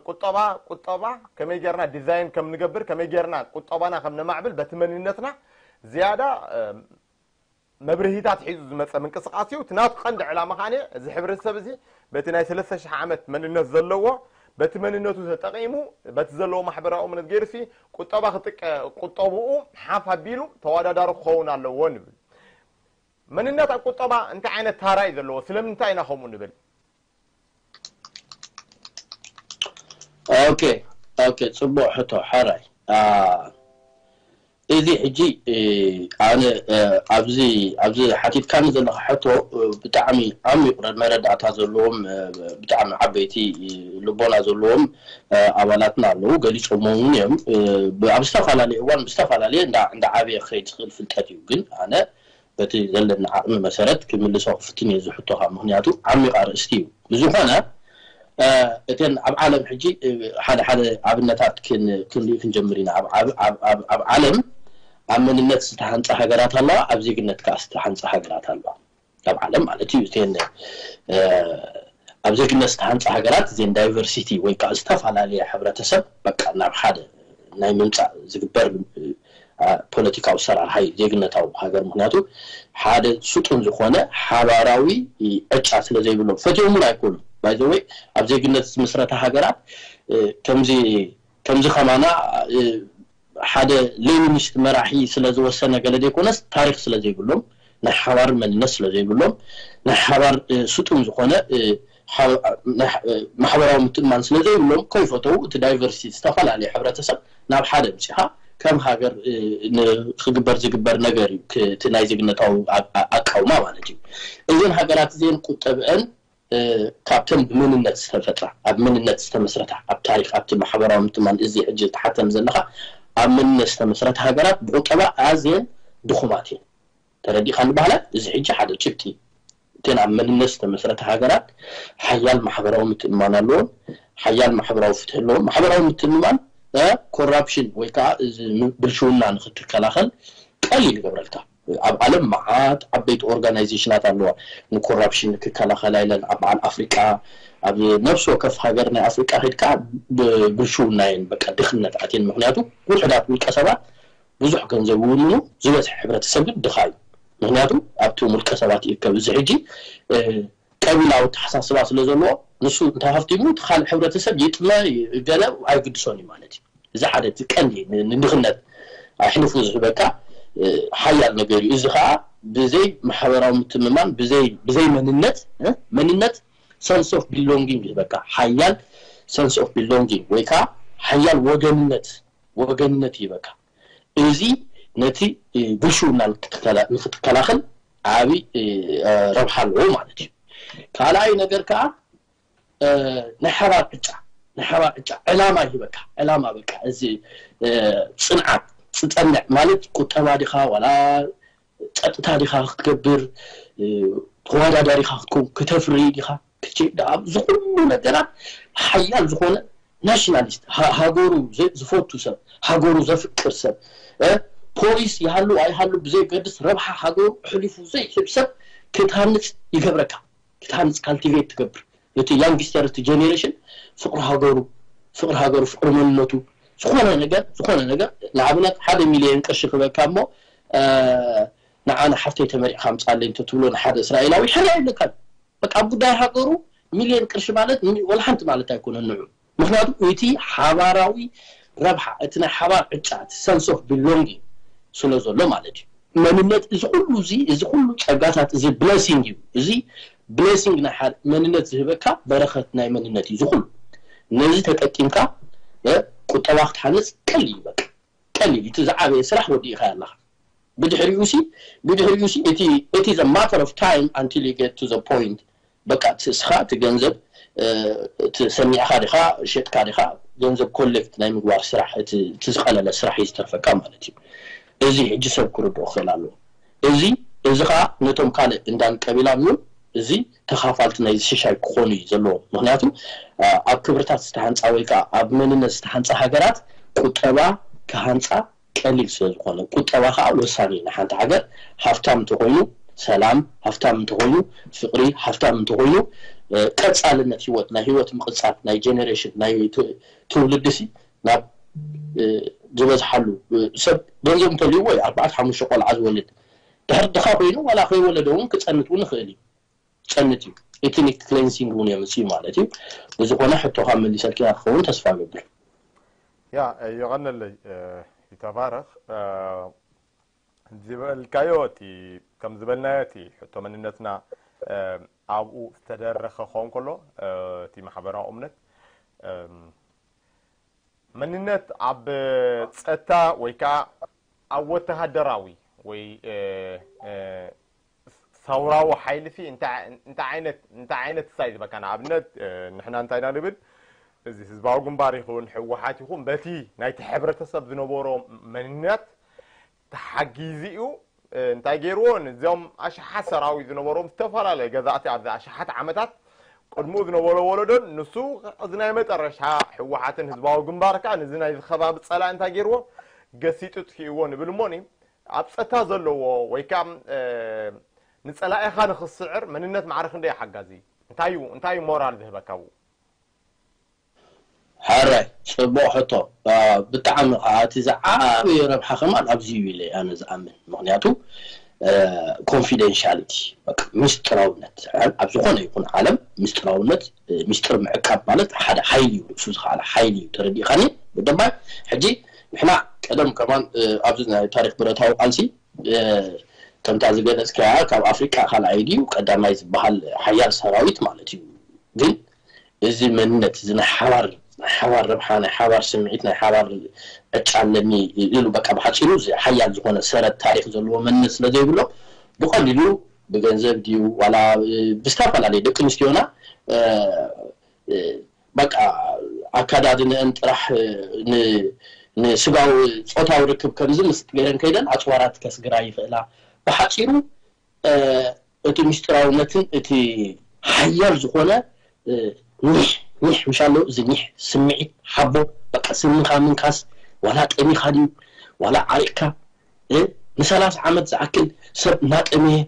ቁጠባ ቁጠባ ከመይ ጌርና ዲዛይን ከም ንገብር ከመይ ጌርና ቁጠባና ከም ነማዕብል በቲ መንነትና ዝያዳ መብርሂታት ሒዙ ዝመፀ ምንቅስቃስ እዩ። እቲ ናቱ ቀንዲ ዕላማ ከዓ እዚ ሕብረተሰብ እዚ በቲ ናይ ሰለስተ ሽሕ ዓመት መንነት ዘለዎ በቲ መንነቱ ተጠቂሙ በቲ ዘለዎ ማሕበራዊ እምነት ገይሩ ሲ ቁጠባ ክጥቀ ቁጠብኡ ሓፍ ኣቢሉ ተወዳዳሪ ክኸውን ኣለዎ ንብል። መንነት ኣብ ቁጠባ እንታይ ዓይነት ታራ እዩ ዘለዎ? ስለምንታይ ኢና ከምኡ ንብል? ኦኬ ኦኬ፣ ፅቡቅ ሕቶ ሓራይ። እዚ ሕጂ ኣነ ኣብዚ ኣብዚ ሓቲትካኒ ዘለካ ሕቶ ብጣዕሚ ዓሚቕ መረዳእታ ዘለዎም ብጣዕሚ ዓበይቲ ልቦና ዘለዎም ኣባላትና ኣለዉ፣ ገሊፆም እውን እዮም። ኣብ ዝተፈላለየ እዋን ብዝተፈላለየ እንዳ ዓበየ ክኸይድ ዝኽእል ፍልጠት እዩ። ግን ኣነ በቲ ዘለኒ ዓቕሚ መሰረት ክምልሶ ክፍትን እየ ዝሕቶኻ፣ ምኽንያቱ ዓሚቕ ኣርእስቲ እዩ። ብዝኾነ እተን ኣብ ዓለም ሕጂ ሓደ ሓደ ኣብነታት ክንርኢ ክንጀምር ኢና። ኣብ ዓለም ኣብ መንነት ዝተሃንፃ ሃገራት ኣለዋ፣ ኣብ ዜግነት ከዓ ዝተሃንፃ ሃገራት ኣለዋ። ኣብ ዓለም ማለት እዩ። እተን ኣብ ዜግነት ዝተሃንፃ ሃገራት እዘን ዳይቨርሲቲ ወይ ከዓ ዝተፈላለየ ሕብረተሰብ በቃ ናብ ሓደ ናይ ምምፃእ ዝግበር ፖለቲካዊ ሰራርሓ እዩ ዜግነታዊ ሃገር። ምክንያቱ ሓደ ስጡን ዝኾነ ሓባራዊ ዕጫ ስለ ዘይብሎም ፈትዮም እውን ኣይኮኑን። ባይዘወይ ኣብ ዜግነት ዝምስረታ ሃገራት ከምዚ ከምዚ ከማና ሓደ ሌኒኒስት መራሒ ስለ ዝወሰነ ገለ ዘይኮነስ፣ ታሪክ ስለ ዘይብሎም፣ ናይ ሓባር መንነት ስለ ዘይብሎም፣ ናይ ሓባር ስጡም ዝኾነ ማሕበራዊ ምትእማን ስለ ዘይብሎም፣ ከይፈተው እቲ ዳይቨርሲቲ፣ ዝተፈላለዩ ሕብረተሰብ ናብ ሓደ ምፅኻ ከም ሃገር ክግበር ዝግበር ነገር እዩ። እቲ ናይ ዜግነታዊ ኣቃውማ ማለት እዩ። እዘን ሃገራት እዚአን ቁጠብአን ካብተን ብመንነት ዝተፈጥራ፣ ኣብ መንነት ዝተመስረታ፣ ኣብ ታሪክ፣ ኣብቲ ማሕበራዊ ምትማን፣ እዚ ሕጂ ትሓተም ዘለካ ኣብ መንነት ዝተመስረታ ሃገራት ብቁጠባ ኣዝየን ድኹማት እየን። ተረዲእካ ንባህላ። እዚ ሕጂ ሓደ ጭብጢ፣ እተን ኣብ መንነት ዝተመስረታ ሃገራት ሓያል ማሕበራዊ ምትእምማን ኣለዎም፣ ሓያል ማሕበራዊ ፍትሒ ኣለዎም። ማሕበራዊ ምትእምማን፣ ኮራፕሽን ወይ ከዓ እዚ ብልሽውና ንክትከላኸል ቀሊል ይገብረልካ። ኣብ ዓለም መዓት ዓበይቲ ኦርጋናይዜሽናት ኣለዋ ንኮራፕሽን ክከላኸላ ኢለን። ኣብ በዓል ኣፍሪቃ፣ ኣብ ነፍሲ ወከፍ ሃገር ናይ ኣፍሪቃ ከድካ ብብልሽውና እየን በቃ ድኽነት ኣትየን። ምክንያቱ ውሕዳት ውልቀ ሰባት ብዙሕ ገንዘብ ይውንኑ፣ ዝበዝሐ ሕብረተሰብ ግን ድኻ እዩ። ምክንያቱ ኣብቶም ውልቀ ሰባት ይእከብ። እዚ ሕጂ ቀቢላዊ ኣተሓሳስባ ስለ ዘለዎ፣ ንሱ እንተሃፍቲሙ እቲ ካልእ ሕብረተሰብ ይጥመ ገለ ኣይግድሶን እዩ ማለት እዩ። እዚ ሓደ እቲ ቀንዲ ንድኽነት ኣሕልፉ ዝህበካ ሓያል ነገር እዩ። እዚ ከዓ ብዘይ ማሕበራዊ ምትምማን፣ ብዘይ መንነት፣ መንነት፣ ሰንስ ኦፍ ቢሎንጊንግ ይህበካ። ሓያል ሰንስ ኦፍ ቢሎንጊንግ ወይ ከዓ ሓያል ወገንነት፣ ወገንነት ይህበካ። እዚ ነቲ ብልሽውና ንክትከላኸል ዓብይ ረብሓ ኣለዎ ማለት እዩ። ካልኣይ ነገር ከዓ ናይ ሓባር ዕጫ፣ ናይ ሓባር ዕጫ ዕላማ ይህበካ። ዕላማ በቃ እዚ ፅንዓት፣ ፅፀንዕ ማለት ቁጠባ ዲኻ ዋላ ፀጥታ ዲኻ ክትገብር፣ ተወዳዳሪኻ ክትከውን፣ ክተፍሪ ዲኻ፣ ክትሸይድ፣ ኣብዚ ኩሉ ነገራት ሓያል ዝኾነ ናሽናሊስት፣ ሃገሩ ዝፈቱ ሰብ፣ ሃገሩ ዘፍቅር ሰብ፣ ፖሊስ ይሃሉ ኣይሃሉ ብዘይገድስ ረብሓ ሃገሩ ኣሕሊፉ ዘይህብ ሰብ ክትሃንፅ ይገብረካ። ክትሃንፅ፣ ካልቲቬት ትገብር። እቲ ያንግስተር፣ እቲ ጀኔሬሽን ፍቅሪ ሃገሩ፣ ፍቅሪ ሃገሩ፣ ፍቅሪ መንነቱ፣ ዝኾነ ነገር፣ ዝኾነ ነገር፣ ንኣብነት ሓደ ሚልዮን ቅርሺ ክበካ እሞ ንዓና ሓፍተይ ተመሪዕካ ምፃለይ እንተትብሎ ንሓደ እስራኤላዊ ሕርያ ይብለካ። በቃ ኣብ ጉዳይ ሃገሩ ሚልዮን ቅርሺ ማለት ወላ ሓንቲ ማለት ኣይኮነን ንዑ። ምክንያቱ እቲ ሓባራዊ ረብሓ፣ እቲ ናይ ሓባር ዕጫ፣ እቲ ሰንስ ኦፍ ቢሎንጊንግ ስለ ዘሎ ማለት እዩ። መንነት፣ እዚ ኩሉ እዚ እዚ ኩሉ ፀጋታት፣ እዚ ብለሲንግ እዩ። እዚ ብለሲንግ ናይ ሓደ መንነት ዝህበካ በረኸት ናይ መንነት እዩ። እዚ ኩሉ ነዚ ተጠቂምካ ቁጠባ ክትሓንፅ ቀሊል እዩ። በቃ ቀሊል እዩ። እቲ ዝዓበየ ስራሕ ወዲእካ ኣለካ። ብድሕሪኡ ሲ ብድሕሪኡ ሲ እቲ እቲ is a matter of time until you get to the point፣ በቃ እቲ እስኻ እቲ ገንዘብ እቲ ሰኒዕካ ዲኻ ሸጥካ ዲኻ ገንዘብ ኮሌክት ናይ ምግባር ስራሕ፣ እቲ ዝቀለለ ስራሕ እዩ ዝተርፈካ ማለት እዩ። እዚ ሕጂ ሰብ ክርድኦ ክኽእል ኣለዎ። እዚ እዚ ከዓ ነቶም ካልእ እንዳን ቀቢላን እውን እዚ ተኻፋልቲ ናይ ሽሻይ ክኾኑ እዩ ዘለዎ። ምክንያቱ ኣብ ክብርታት ዝተሃንፃ ወይ ከዓ ኣብ መንነት ዝተሃንፃ ሃገራት ቁጠባ ክሃንፃ ቀሊል ስለ ዝኾነ፣ ቁጠባ ከዓ ወሳኒ እዩ ንሓንቲ ሃገር። ሃፍታም እንተኮይኑ ሰላም፣ ሃፍታም እንተኮይኑ ፍቅሪ፣ ሃፍታም እንተኮይኑ ቀፃልነት ህይወት፣ ናይ ህይወት ምቅፃል፣ ናይ ጀኔሬሽን፣ ናይ ትውልዲ ሲ ናብ ዝበዝሓሉ፣ ሰብ ገንዘብ እንተልዩ ወይ ኣርባዕተ ሓሙሽተ ቆልዓ ዝወልድ፣ ድሕር ድኻ ኮይኑ ዋላ ከይወለደ እውን ክፀንት እውን ይኽእል እዩ። ጸንት እዩ። ኤትኒክ ክሌንሲንግ እውን የምጽእ ማለት እዩ። ብዝኾነ ሕቶኻ መሊሰልኪ ኢና ክኸውን ተስፋ እገብር። ያ የቐነለይ ይተባረኽ። ዝበልካዮ እቲ ከም ዝበልናዮ እቲ ሕቶ መንነትና ኣብኡ ዝተደረኸ ክኸውን ከሎ እቲ ማሕበራዊ እምነት መንነት ኣብ ጸጥታ ወይ ከዓ ኣብ ወተሃደራዊ ወይ ሰውራዊ ሓይሊ ሲ እንታይ ዓይነት እንታይ ዓይነት ሳይ ዝበካ ንኣብነት ንሕና እንታይ ኢና ንብል እዚ ህዝባዊ ግንባር ይኹን ህወሓት ይኹን በቲ ናይቲ ሕብረተሰብ ዝነበሮ መንነት ተሓጊዙ እዩ እንታይ ገይርዎ ነዚኦም ኣሽሓት ሰራዊት ዝነበሮም ዝተፈላለየ ገዛእቲ ኣብዚ ኣሽሓት ዓመታት ቅድምኡ ዝነበሮ ወለዶን ንሱ እዚ ናይ መጠረሻ ህወሓትን ህዝባዊ ግንባር ከዓ ነዚ ናይ ከባቢ ፀላእ እንታይ ገይርዎ ገሲጡ ጥፊእዎ ንብል እሞኒ ኣብ ፀታ ዘለዎ ወይ ከዓ ንፀላኢኻ ንክስዕር መንነት ማዕረ ክንደይ ሓጋዚ እንታይ እዩ እንታይ እዩ ሞራል ዝህበካ ብኡ ሕራይ ፅቡቕ ሕቶ ብጣዕሚ ከዓ እቲ ዝዓበየ ረብሓ ከማን ኣብዚ እዩ ኢለ ኣነ ዝኣምን ምክንያቱ confidentiality፣ በቃ ምስጢራውነት። ኣብ ዝኾነ ይኹን ዓለም ምስጢራውነት፣ ምስጢር ምዕቃብ ማለት ሓደ ሓይሊ እዩ፣ ርእሱ ዝኸኣለ ሓይሊ እዩ። ተረዲእካኒ? ብደንባይ ሕጂ ንሕና ቀደም ከማን ኣብዚ ናይ ታሪክ ብረታዊ ቃልሲ ከምታ ዝገለጽካያ ካብ ኣፍሪቃ ካልኣይ ድዩ ቀዳማይ ዝበሃል ሓያል ሰራዊት ማለት እዩ። ግን እዚ መንነት እዚ ናይ ሓባር ናይ ሓባር ረብሓ፣ ናይ ሓባር ስምዒት፣ ናይ ሓባር ዕጫ ኣለኒ ኢሉ በቃ ብሓፂሩ እዚ ሓያል ዝኾነ ሰረት ታሪክ ዘለዎ መንነት ስለ ዘይብሎ ብቐሊሉ ብገንዘብ ድዩ ዋላ ብዝተፈላለየ ደቂ ኣንስትዮና በቃ ኣካዳድንአን ጥራሕ ንስጋዊ ፆታዊ ርክብ ከምዚ ምስ ገይረን ከይደን ኣፅዋራት ከስግራ ይኽእላ። ብሓፂሩ እቲ ምስጢራውነትን እቲ ሓያል ዝኾነ ኒሕ ኒሕ ምሻሎ እዚ ኒሕ ስምዒት ሓቦ በቃ ስምኻ ምንካስ ዋላ ጠሚኻ ድዩ ዋላ ዓሪቕካ ንሰላሳ ዓመት ዝኣክል ሰብ እናጠመየ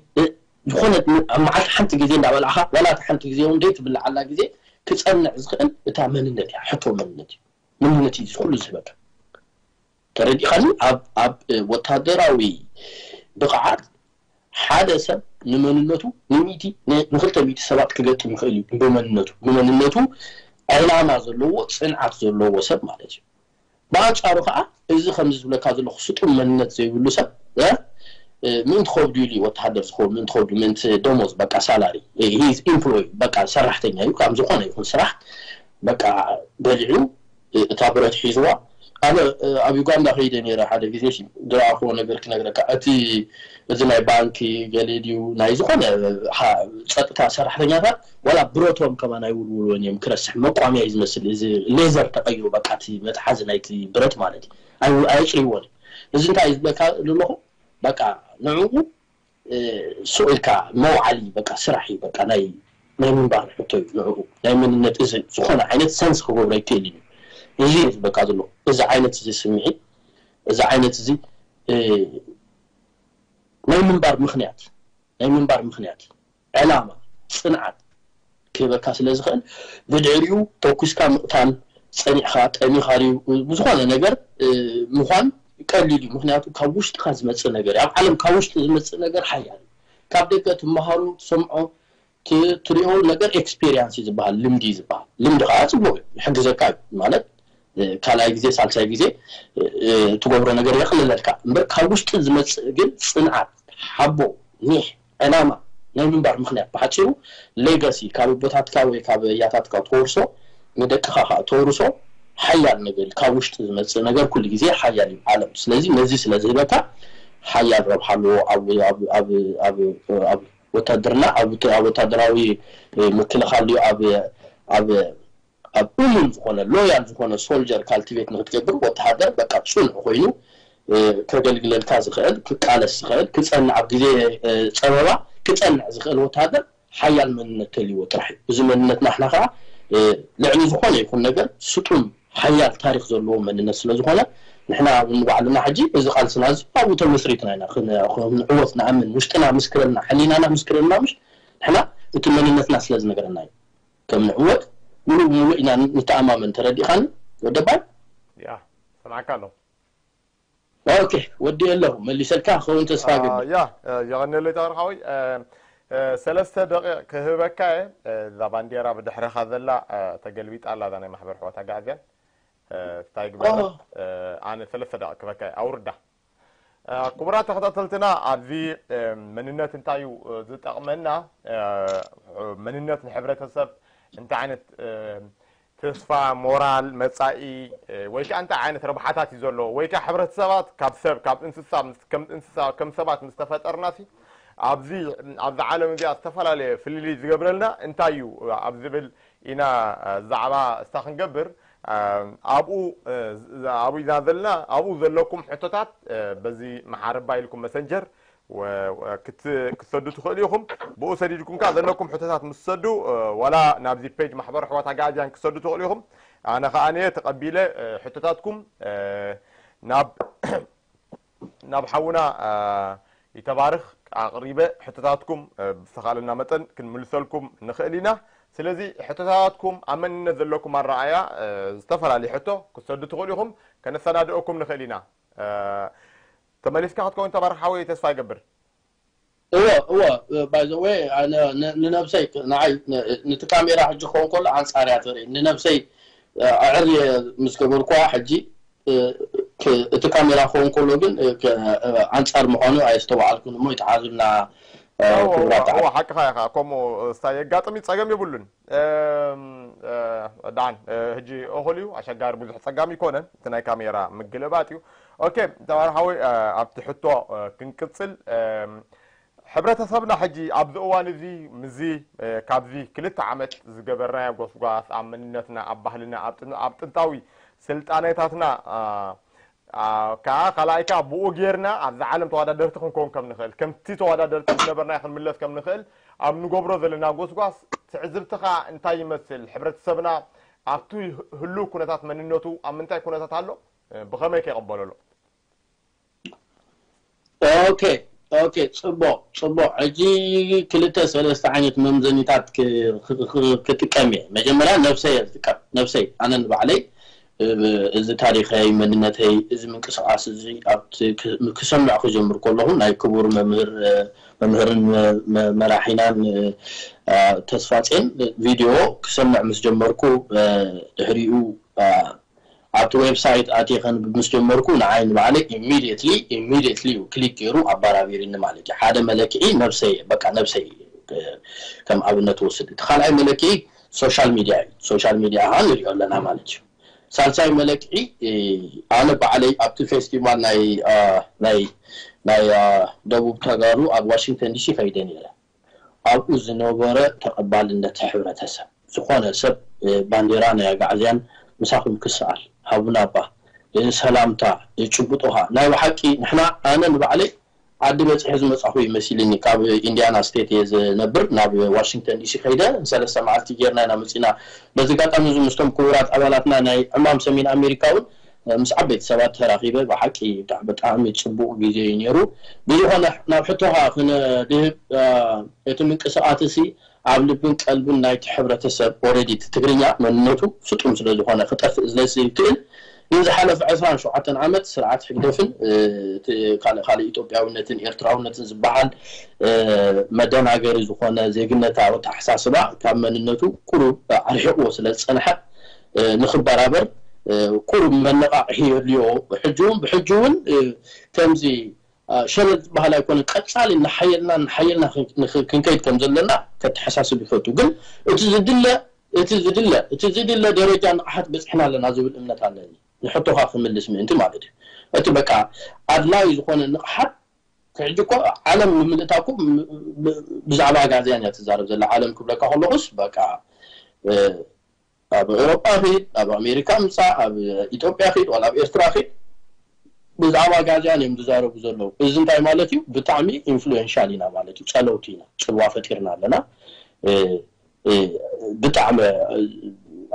ዝኾነ ኣብ መዓልቲ ሓንቲ ግዜ እንዳበላዕኻ ዋላ እቲ ሓንቲ ግዜ እውን ደይ ትብልዓላ ግዜ ክፀንዕ ዝኽእል እታ መንነት እያ። ሕቶ መንነት እዩ። መንነት እዩ ኩሉ ዝህበካ። ተረዲኻኒ? ኣብ ኣብ ወታደራዊ ብቕዓት ሓደ ሰብ ንመንነቱ ንሚእቲ ንክልተ ሚእቲ ሰባት ክገጥም ይኽእል እዩ። ብመንነቱ ብመንነቱ ዕላማ ዘለዎ ፅንዓት ዘለዎ ሰብ ማለት እዩ። ብኣንፃሩ ከዓ እዚ ከምዚ ዝብለካ ዘለኹ ስጡም መንነት ዘይብሉ ሰብ ምእንቲ ከብዱ ኢሉ ወተሃደር ዝኸውን ምእንቲ ከብዱ ምእንቲ ደሞዝ በቃ ሳላሪ ኢምፕሎይ በቃ ሰራሕተኛ እዩ። ካብ ዝኾነ ይኹን ስራሕ በቃ በሊዑ እታ ብረት ሒዝዋ ኣነ ኣብ ዩጋንዳ ከይደ ነረ ሓደ ግዜ ዝረኣኽዎ ነገር ክነግረካ እቲ እዚ ናይ ባንኪ ገሌ ድዩ ናይ ዝኾነ ፀጥታ ሰራሕተኛታት ዋላ ብረቶም ከማን ኣይውልውልዎን እዮም። ክረስሕ መቋምያ እዩ ዝመስል። እዚ ሌዘር ተቐይሩ በቃ እቲ መትሓዚ ናይቲ ብረት ማለት እዩ። ኣየፅርይዎን እዩ። እዚ እንታይ እዩ ዝብለካ ዘለኹ በቃ ንዕኡ ሱቕ ኢልካ መውዓሊ በቃ ስራሕ እዩ። በቃ ናይ ናይ ምንባር ሕቶ እዩ ንዕኡ ናይ መንነት እዚ ዝኾነ ዓይነት ሰንስ ክገብሮ ይክእል እዩ። እዚ እዩ ዝበቃ ዘሎ እዚ ዓይነት እዚ ስምዒት እዚ ዓይነት እዚ ናይ ምንባር ምኽንያት ናይ ምንባር ምኽንያት ዕላማ ፅንዓት ክህበካ ስለ ዝኽእል ብድሕሪኡ ተኩስካ ምቕታል ፀኒዕኻ ጠሚኻ ድዩ ብዝኾነ ነገር ምዃን ቀሊል እዩ። ምክንያቱ ካብ ውሽጥካ ዝመፅእ ነገር እዩ። ኣብ ዓለም ካብ ውሽጢ ዝመፅእ ነገር ሓያል እዩ። ካብ ደገ ትመሃሮ ትሰምዖ ትሪኦ ነገር ኤክስፔሪንስ እዩ ዝበሃል፣ ልምዲ እዩ ዝበሃል። ልምዲ ከዓ ፅቡቅ እዩ፣ ይሕግዘካ እዩ ማለት ካልኣይ ግዜ ሳልሳይ ግዜ ትገብሮ ነገር የቅልለልካ እምበር ካብ ውሽጢ ዝመፅእ ግን ፅንዓት፣ ሓቦ፣ ኒሕ፣ ዕላማ ናይ ምንባር ምክንያት ብሓፂሩ ሌጋሲ ካብ ኣቦታትካ ወይ ካብ ያታትካ ተወርሶ ንደቅኻ ከዓ ተወርሶ ሓያል ነገር እዩ። ካብ ውሽጢ ዝመፅእ ነገር ኩሉ ግዜ ሓያል እዩ ዓለም። ስለዚ ነዚ ስለ ዝህበካ ሓያል ረብሓ ኣለዎ ኣብ ወታደርና ኣብ ወታደራዊ ምክልኻል ድዩ ኣብ ኣብ ኣብ እሙን ዝኾነ ሎያል ዝኾነ ሶልጀር ካልቲቬት ንክትገብር ወተሃደር በቃ ፅኑዕ ኮይኑ ከገልግለልካ ዝኽእል ክቃለስ ዝኽእል ክፀንዕ ኣብ ግዜ ፀበባ ክፀንዕ ዝኽእል ወተሃደር ሓያል መንነት ተልይዎ ጥራሕ እዩ። እዚ መንነት ናሕና ከዓ ልዕሊ ዝኾነ ይኹን ነገር ስጡም ሓያል ታሪክ ዘለዎ መንነት ስለ ዝኾነ ንሕና እውን ባዕልና ሕጂ እዚ ቃልስና እዚ ኣብኡ ተመስሪትና ኢና ንዕወት ንኣምን ውሽጥና ምስክረልና ሕሊናና ምስክረልና ምሽ ንሕና እቲ መንነትና ስለ ዝነገረና እዩ። ከም ንዕወት ሙሉእ ብሙሉእ ኢና ንተኣማመን። ተረዲእኻኒ ወደባይ? ያ ሰምዓካ ኣለኹ። ኦኬ ወዲ ኣለኹ መሊሰልካ ክኸውን ተስፋ ገብር። ያ የቐንየለይ ተበርካዊ ሰለስተ ደቂቕ ክህበካ እየ። እዛ ባንዴራ ብድሕረኻ ዘላ ተገልቢጣ ኣላ እዛ ናይ ማሕበር ኣሕዋት ኣጋዕዝያን እንታይ ግበር ኣነ ሰለስተ ደቂቕ ክህበካ እየ ኣውርዳ። ክቡራት ተኸታተልትና ኣብዚ መንነት እንታይ እዩ ዝጠቕመና መንነት ንሕብረተሰብ እንታይ ዓይነት ተስፋ ሞራል መፃኢ ወይ ከዓ እንታይ ዓይነት ረብሓታት እዩ ዘለዎ ወይ ከዓ ሕብረተሰባት ካብ ሰብ ካብ እንስሳ ከም እንስሳ ከም ሰባት ምስ ተፈጠርና ሲ ኣብዚ ኣብዚ ዓለም እዚኣ ዝተፈላለየ ፍልልይ ዝገብረልና እንታይ እዩ ኣብ ዝብል ኢና ዛዕባ እስታ ክንገብር ኣብኡ ኣብኡ ኢና ዘለና ኣብኡ ዘለኩም ሕቶታት በዚ መሓረባ ኢልኩም መሰንጀር ክትሰዱ ትኽእሉ ኢኹም። ብኡ ሰዲድኩም ከዓ ዘለኩም ሕቶታት ምስ ትሰዱ ዋላ ናብዚ ፔጅ ማሕበር ኣሕዋት ኣጋኣዝያን ክትሰዱ ትኽእሉ ኢኹም። ኣነ ከዓ እየ ተቐቢለ ሕቶታትኩም ናብ ናብ ሓውና ይተባርኽ ኣቕሪበ ሕቶታትኩም ብዝተኻለና መጠን ክንምልሰልኩም ንኽእል ኢና። ስለዚ ሕቶታትኩም ኣብ መንነት ዘለኩም ኣረኣያ ዝተፈላለዩ ሕቶ ክትሰዱ ትኽእሉ ኢኹም። ከነሰናድኦኩም ንኽእል ኢና። ተመሊስካ ክትከውን ተባርኽ ሓወይ ተስፋ ይገብር። እወ እወ። ባይዘወ ንነብሰይ ንዓይ ነቲ ካሜራ ሕጂ ክኸውን ከሎ ኣንፃር እያ ትርኢ። ንነብሰይ ኣዕርየ ምስ ገበርኳ ሕጂ እቲ ካሜራ ክኸውን ከሎ ግን ኣንፃር ምዃኑ ኣየስተውዓልኩን እሞ ይተሓዙልና። ክቡራት ሓቅኻ ኢኻ። ከምኡ ስታ የጋጥም ጸገም የብሉን። ዳን ሕጂ እኹል እዩ፣ ኣሸጋሪ ብዙሕ ጸጋም ይኮነን፣ እቲ ናይ ካሜራ ምግልባጥ እዩ። ኦኬ ተባር ሓወይ፣ ኣብቲ ሕቶ ክንቅጽል። ሕብረተሰብና ሕጂ ኣብዚ እዋን እዚ ምዚ ካብዚ ክልተ ዓመት ዝገበርናዮ ጎስጓስ ኣብ መንነትና፣ ኣብ ባህልና፣ ኣብ ጥንታዊ ስልጣኔታትና ከዓ ካልኣይ ከዓ ብኡ ጌርና ኣብዛ ዓለም ተወዳደርቲ ክንከውን ከም ንኽእል፣ ከምቲ ተወዳደርቲ ዝነበርና ክንምለስ ከም ንኽእል ኣብ ንገብሮ ዘለና ጎስጓስ ትዕዝብትኻ እንታይ ይመስል? ሕብረተሰብና ኣብቲ ህሉው ኩነታት መንነቱ ኣብ ምንታይ ኩነታት ኣሎ? ብኸመይ ከይቕበሎ ኣሎ? ኦኬ ኦኬ፣ ጽቡቕ ጽቡቕ። ሕጂ ክልተ ሰለስተ ዓይነት መምዘኒታት ክጥቀም እየ። መጀመርያ ነብሰይ እየ ዝጥቀም። ነብሰይ ኣነ ንባዕለይ እዚ ታሪኸይ፣ መንነተይ፣ እዚ ምንቅስቃስ እዚ ክሰምዕ ክጀምር ከለኹ ናይ ክቡር መምህር መምህርን መራሒናን ተስፋጼን ቪድዮ ክሰምዕ ምስ ጀመርኩ ድሕሪኡ ኣብቲ ዌብሳይት ኣትየ ከንብብ ምስ ጀመርኩ ንዓይ ንባዕለይ ኢሚድየትሊ ኢሚድየትሊ እዩ ክሊክ ገይሩ ኣባራቢርኒ ማለት እዩ። ሓደ መለክዒ ነብሰይ እየ፣ በቃ ነብሰይ ከም ኣብነት ወስድ። እቲ ካልኣይ መለክዒ ሶሻል ሚድያ እዩ። ሶሻል ሚድያ ከዓ ንሪኦ ኣለና ማለት እዩ። ሳልሳይ መለክዒ ኣነ ባዕለይ ኣብቲ ፌስቲቫል ናይ ናይ ናይ ደቡብ ተጋሩ ኣብ ዋሽንግተን ዲሲ ከይደ ነይረ። ኣብኡ ዝነበረ ተቐባልነት ሕብረተሰብ ዝኾነ ሰብ ባንዴራ ናይ ኣጋዕዝያን ምሳኹም ክሰኣል ሃቡና እባ ሰላምታ ጭብጦኻ ናይ ብሓቂ ንሕና ኣነ ንባዕለይ ዓዲ በፂሐ ዝመፃኹ ይመሲልኒ ካብ ኢንዲያና ስቴት እየ ዝነብር ናብ ዋሽንግተን ዲሲ ከይደ ሰለስተ መዓልቲ ጌርና ኢና መፂና በዚ ኣጋጣሚ እዚ ምስቶም ክቡራት ኣባላትና ናይ ዕማም ሰሜን ኣሜሪካ እውን ምስ ዓበይቲ ሰባት ተራኺበ ብሓቂ ብጣዕሚ ፅቡቅ ግዜ እዩ ነይሩ። ብዝኾነ ናብ ሕቶኻ ክነድህብ እቲ ምንቅስቃስ እዚ ኣብ ልብን ቀልብን ናይቲ ሕብረተሰብ ኦረዲ እቲ ትግርኛ መንነቱ ስጡም ስለዝኾነ ክጠፍእ ስለዝክእል ንዝሓለፈ ዕስራን ሸውዓተን ዓመት ስርዓት ሕግደፍን ካልእ ካልእ ኢትዮጵያውነትን ኤርትራውነትን ዝበሃል መደናገሪ ዝኾነ ዜግነታዊ ኣተሓሳስባ ካብ መንነቱ ቁሩብ ኣርሒቕዎ ስለዝፀንሐ ንኽበራበር ቁሩብ መነቓቕሒ የድልዮ። ሕጂ እውን ብሕጂ እውን ከምዚ ሸለል ዝበሃል ኣይኮነን። ቀፃሊ እናሓየልና እናሓየልና ክንከይድ ከም ዘለና ከተሓሳስብ ይፈቱ። ግን እቲ ዝድለ እቲ ዝድለ እቲ ዝድለ ደረጃ ንቕሓት በፂሕና ኣለና ዝብል እምነት ኣለኒ። ንሕቶኻ ክምልስ ምእንቲ ማለት እዩ። እቲ በቃ ኣድላዩ ዝኾነ ንቕሓት ሕጂ እኮ ዓለም ንምልእታ እኮ ብዛዕባ ኣጋዝያን እያ ትዛረብ ዘላ። ዓለም ክብለካ ከለኹስ በቃ ኣብ ኤውሮጳ ኺድ፣ ኣብ ኣሜሪካ ምጻእ፣ ኣብ ኢትዮጵያ ኺድ፣ ዋላ ኣብ ኤርትራ ኺድ ብዛዕባ ኣጋዝያን እዮም ዝዛረቡ ዘለዉ። እዚ እንታይ ማለት እዩ? ብጣዕሚ ኢንፍሉዌንሻል ኢና ማለት እዩ። ጸለውቲ ኢና፣ ጽልዋ ፈጢርና ኣለና። ብጣዕሚ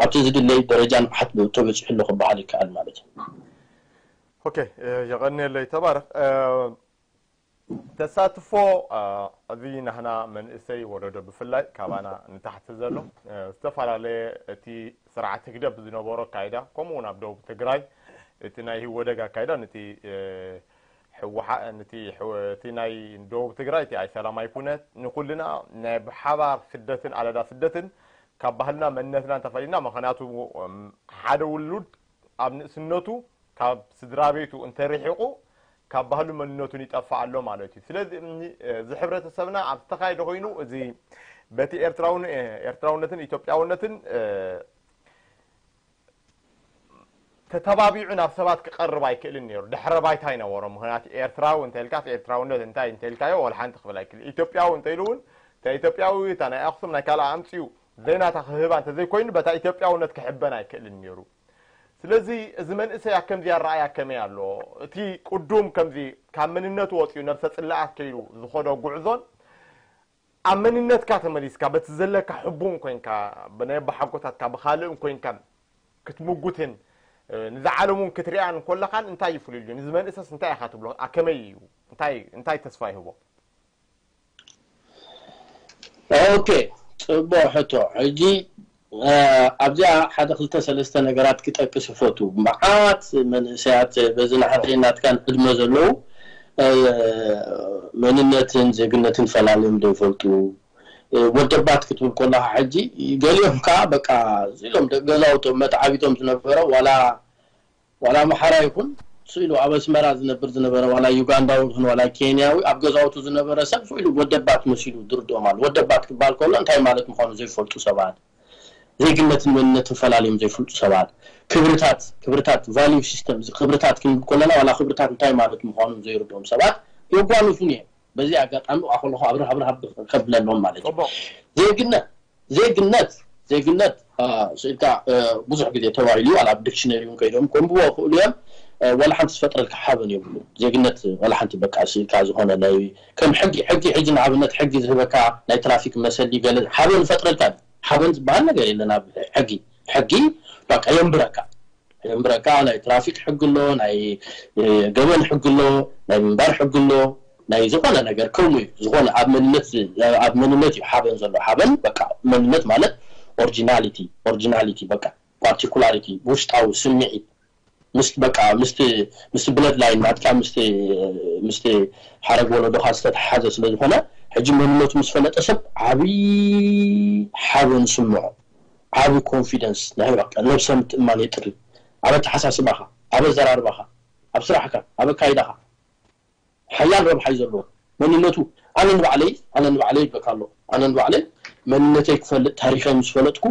ኣብቲ ዝድለይ ደረጃ ንቕሓት ተበጺሑ ኣሎ ክበሃል ይከኣል ማለት እዩ። ኦኬ፣ የቐንየለይ ተባረኽ። ተሳትፎ እዚ ናህና መንእሰይ ወለዶ ብፍላይ ካባና ንታሕቲ ዘሎ ዝተፈላለየ እቲ ስርዓት ህግደፍ ዝነበሮ ኣካይዳ ከምኡ እውን ኣብ ደቡብ ትግራይ እቲ ናይ ህወደግ ኣካይዳ ነቲ ህወሓ ነቲ እቲ ናይ ደቡብ ትግራይ እቲ ኣይሰላም ኣይኩነት ንኩልና ናይ ብሓባር ስደትን ኣለዳ ስደትን ካብ ባህልና መንነትና እንተፈሊና ምክንያቱ ሓደ ውሉድ ኣብ ንእስነቱ ካብ ስድራ ቤቱ እንተርሒቑ ካብ ባህሉ መንነቱን ይጠፍእ ኣሎ ማለት እዩ። ስለዚ እዚ ሕብረተሰብና ኣብ ዝተኻየደ ኮይኑ እዚ በቲ ኤርትራውን ኤርትራውነትን ኢትዮጵያውነትን ተተባቢዑ ናብ ሰባት ክቐርብ ኣይክእልን ነይሩ። ድሕረ ባይታ ይነበሮ። ምክንያቱ ኤርትራዊ እንተልካስ ኤርትራውነት እንታይ እንተልካዮ ወላ ሓንቲ ክብል ኣይክእል። ኢትዮጵያዊ እንተኢሉ እውን እታ ኢትዮጵያዊ እታ ናይ ኣክሱም ናይ ካልኣ ኣምፅኡ ዘይናታ ክህባ እንተዘይኮይኑ በታ ኢትዮጵያውነት ክሕበን ኣይክእልን ነይሩ። ስለዚ እዚ መንእሰይ ኣብ ከምዚ ኣረኣያ ከመይ ኣሎ? እቲ ቅዱም ከምዚ ካብ መንነቱ ወፂኡ ነብሰ ፅላኣት ከይዱ ዝኸዶ ጉዕዞን ኣብ መንነትካ ተመሊስካ በቲ ዘለካ ሕቡን ኮይንካ ብናይ ኣቦሓጎታትካ ብካልእን ኮይንካ ክትምጉትን ንዛ ዓለም እውን ክትሪኣን እንኮለኻን እንታይ ይፍልልዩ? ንዚ መንእሰስ እንታይ ኢኻ ትብሎ? ኣከመይ እዩ? እንታይ እንታይ ተስፋ ይህቦ? ኦኬ፣ ፅቡቅ ሕቶ። ሕጂ ኣብዚኣ ሓደ ክልተ ሰለስተ ነገራት ክጠቅስ ይፈቱ። መዓት መንእሰያት በዚ ናሕተይ ናትካን ዕድመ ዘለዉ መንነትን ዜግነትን ፈላልዮም ዘይፈልጡ ወደባት ክትብል ኮላካ ሕጂ፣ ገሊኦም ከዓ በቃ ኢሎም ገዛውቶም መተዓቢቶም ዝነበረ ዋላ ዋላ ኣምሓራ ይኹን ስኢሉ ኣብ ኣስመራ ዝነብር ዝነበረ ዋላ ዩጋንዳዊ ይኹን ዋላ ኬንያዊ ኣብ ገዛውቱ ዝነበረ ሰብ ስኢሉ ወደባት መሲሉ ዝርድኦም ኣሎ። ወደባት ክበሃል ከሎ እንታይ ማለት ምዃኑ ዘይፈልጡ ሰባት፣ ዜግነትን መንነትን ፈላልዮም ዘይፈልጡ ሰባት፣ ክብርታት ክብርታት ቫልዩ ሲስተም ክብርታት ክንብል ከለና ዋላ ክብርታት እንታይ ማለት ምዃኑ ዘይርድኦም ሰባት የጓንፉን እዮም። በዚ ኣጋጣሚ ብኣ ከለኹ ኣብርህ ኣብርህ ከብለሎም ማለት እዩ። ዜግነት ዜግነት ዜግነት ስኢልካ ብዙሕ ግዜ ተባሂሉ ዋላ ኣብ ዲክሽነሪ እውን ከይዶም ከንብቦ ክእሉ እዮም። ዋላ ሓንቲ ዝፈጥረልካ ሓበን የብሉ። ዜግነት ዋላ ሓንቲ በቃ ስኢልካ ዝኾነ ናይ ከም ሕጊ ሕጊ ሕጂ ንኣብነት ሕጊ ዝህበካ ናይ ትራፊክ መሰሊ ገለ ሓበን ዝፈጥረልካ ሓበን ዝበሃል ነገር የለን ኣብ ሕጊ። ሕጊ በቃ የንብረካ የንብረካ። ናይ ትራፊክ ሕጊ ኣሎ፣ ናይ ገበን ሕጊ ኣሎ፣ ናይ ምንባር ሕጊ ኣሎ፣ ናይ ዝኾነ ነገር ከምኡ እዩ። ዝኾነ ኣብ መንነት ኣብ መንነት እዩ ሓበን ዘሎ። ሓበን በቃ መንነት ማለት ኦሪጂናሊቲ ኦሪጂናሊቲ በቃ ፓርቲኩላሪቲ ውሽጣዊ ስምዒት ምስ በቃ ምስቲ ምስቲ ብለድ ላይን ናትካ ምስቲ ምስቲ ሓረግ ወለዶካ ዝተተሓሓዘ ስለ ዝኾነ ሕጂ መንነቱ ምስ ፈለጠ ሰብ ዓብዪ ሓበን ይስምዖ። ዓቢ ኮንፊደንስ ናይ በቃ ነብሰ ምትእማን የጥሪ። ኣብ ኣተሓሳስባኻ፣ ኣብ ኣዘራርባኻ፣ ኣብ ስራሕካ፣ ኣብ ኣካይዳኻ ሓያል ረብሓ እዩ ዘለዎ። መንነቱ ኣነ ንባዕለይ ኣነ ንባዕለይ ይብለካ ኣለኹ። ኣነ ንባዕለይ መንነተይ ክፈልጥ ታሪኸይ ምስ ፈለጥኩ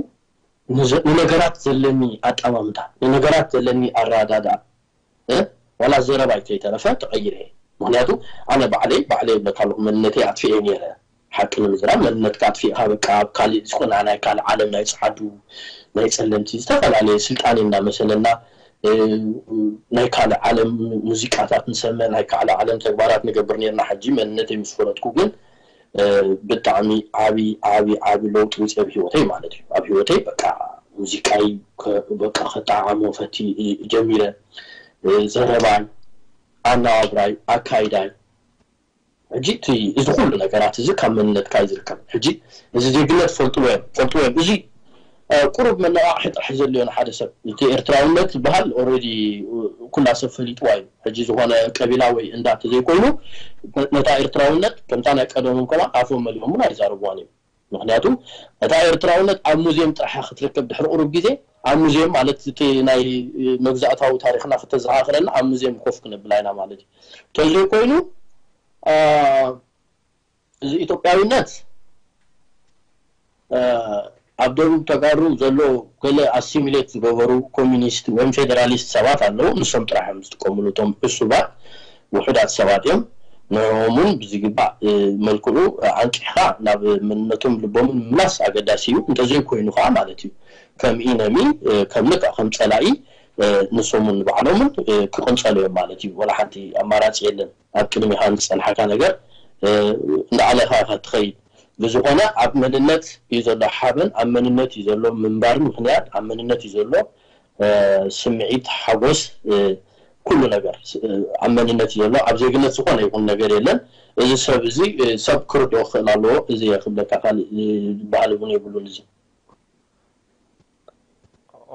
ንዘ- ንነገራት ዘለኒ ኣጠማምታ ንነገራት ዘለኒ ኣረዳድኣ እ? ዋላ ዘረባይ ከይተረፈ ተቐይረ እየ። ምክንያቱ ኣነ ባዕለይ ባዕለይ ይብለካ ኣለኹ መንነተይ ኣጥፊኤ ነይረ። ሓቂ ንምዝራብ መንነትካ ኣጥፊእካ በቃ ኣብ ካሊእ ዝኾነ ናይ ካልእ ዓለም ናይ ጸዓዱ ናይ ጸለምቲ ዝተፈላለየ ስልጣኔ እንዳመሰለና ናይ ካልእ ዓለም ሙዚቃታት ንሰምዕ ናይ ካልእ ዓለም ተግባራት ንገብር ነርና። ሕጂ መንነተይ ምስ ፈለጥኩ ግን ብጣዕሚ ዓቢ ዓቢ ዓቢ ለውጢ ውፅእ ኣብ ህይወተይ ማለት እዩ። ኣብ ህይወተይ በቃ ሙዚቃይ በቃ ከጠዓዕሞ ፈቲ ጀሚረ። ዘረባይ፣ ኣነባብራይ፣ ኣካይዳይ ሕጂ እቲ እዚ ኩሉ ነገራት እዚ ካብ መንነትካ እዩ ዝርከብ። ሕጂ እዚ ዜግነት ፈልጥዎ እዮም ፈልጥዎ እዮም እዚ ቁሩብ መነቓቕሒ ጥራሕ ዘድልዮ ንሓደ ሰብ። እቲ ኤርትራውነት ዝበሃል ኦረዲ ኩላ ሰብ ፈሊጥዋ እዩ። ሕጂ ዝኾነ ቀቢላ ወይ እንዳ እንተዘይኮይኑ ነታ ኤርትራውነት ከምታ ናይ ቀደሞም ከማን ኣፎም መሊኦም እውን ኣይዛረብዋን እዮም። ምክንያቱ እታ ኤርትራውነት ኣብ ሙዝየም ጥራሕ ክትርከብ ድሕሪ ቁሩብ ግዜ ኣብ ሙዝየም ማለት እቲ ናይ መግዛእታዊ ታሪክና ክተዘኻኽረና ኣብ ሙዝየም ኮፍ ክነብላ ኢና ማለት እዩ። እንተዘይኮይኑ እዚ ኢትዮጵያዊነት ኣብ ደቡብ ተጋሩ ዘሎ ገለ ኣሲሚሌት ዝገበሩ ኮሚኒስት ወይም ፌደራሊስት ሰባት ኣለዉ። ንሶም ጥራሕ እዮም ዝጥቀምሉ እቶም ዕሱባት ውሑዳት ሰባት እዮም። ንዕኦም እውን ብዝግባእ መልክዑ ኣንቂሕካ ናብ መንነቶም ልቦምን ምምላስ ኣገዳሲ እዩ። እንተዘይኮይኑ ከዓ ማለት እዩ ከም ኢነሚ ከም ልክዕ ከም ፀላኢ ንሶምን ንባዕሎምን ክቕንፀሉ እዮም ማለት እዩ። ወላ ሓንቲ ኣማራፂ የለን። ኣብ ቅድሚኻ ንዝፀንሓካ ነገር እንዳዓለኻ ኢኻ ትኸይድ። ብዝኾነ ኣብ መንነት እዩ ዘሎ ሓበን፣ ኣብ መንነት እዩ ዘሎ ምንባር ምኽንያት፣ ኣብ መንነት እዩ ዘሎ ስምዒት ሓጎስ፣ ኩሉ ነገር ኣብ መንነት እዩ ዘሎ። ኣብ ዜግነት ዝኾነ ይኹን ነገር የለን። እዚ ሰብ እዚ ሰብ ክርድኦ ክኽእል ኣለዎ። እዚ እየ ክብለካ ካልእ ዝበሃል እውን የብሉን። እዚ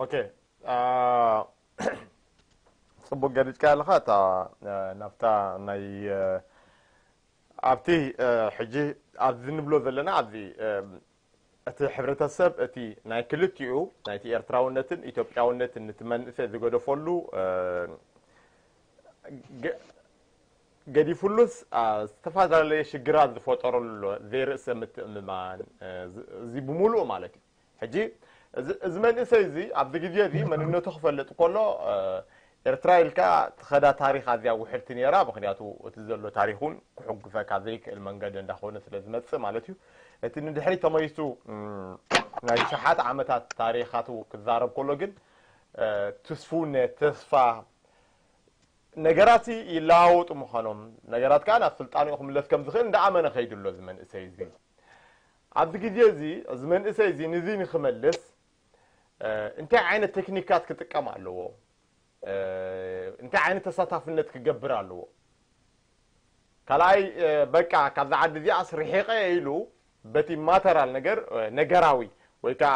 ኦኬ ፅቡቅ ገሊፅካ ኣለካ እታ ናብታ ናይ ኣብቲ ሕጂ ኣብዚ ንብሎ ዘለና ኣብዚ እቲ ሕብረተሰብ እቲ ናይ ክልቲኡ ናይቲ ኤርትራውነትን ኢትዮጵያውነትን ነቲ መንእሰይ ዝገደፈሉ ገዲፉሉስ ዝተፈላለየ ሽግራት ዝፈጠረሉ ዘሎ ዘይርእሰ ምትእምማን እዚ ብምሉኡ ማለት እዩ። ሕጂ እዚ መንእሰይ እዚ ኣብዚ ግዜ እዚ መንነቱ ክፈልጥ ከሎ ኤርትራ ኢልካ ትኸዳ ታሪኽ ኣዝያ ውሕድቲ ነይራ። ምክንያቱ እቲ ዘሎ ታሪኽ እውን ክሕጉሰካ ዘይክእል መንገዲ እንዳኾነ ስለ ዝመፅእ ማለት እዩ። እቲ ንድሕሪ ተመይሱ ናይ ሸሓት ዓመታት ታሪኻቱ ክዛረብ ከሎ ግን ትስፉነት፣ ተስፋ ነገራት ይለዋወጡ ምዃኖም ነገራት ከዓ ናብ ስልጣንኡ ክምለስ ከም ዝኽእል እንዳኣመነ ከይዱ ኣሎ እዚ መንእሰይ እዚ። ኣብዚ ግዜ እዚ እዚ መንእሰይ እዚ ንዚ ንክመልስ እንታይ ዓይነት ቴክኒካት ክጥቀም ኣለዎ? እንታይ ዓይነት ተሳታፍነት ክገብር ኣለዎ? ካልኣይ በቃ ካብዛ ዓዲ እዚኣስ ርሒቐ ኢሉ በቲ ማተራል ነገር ነገራዊ ወይ ከዓ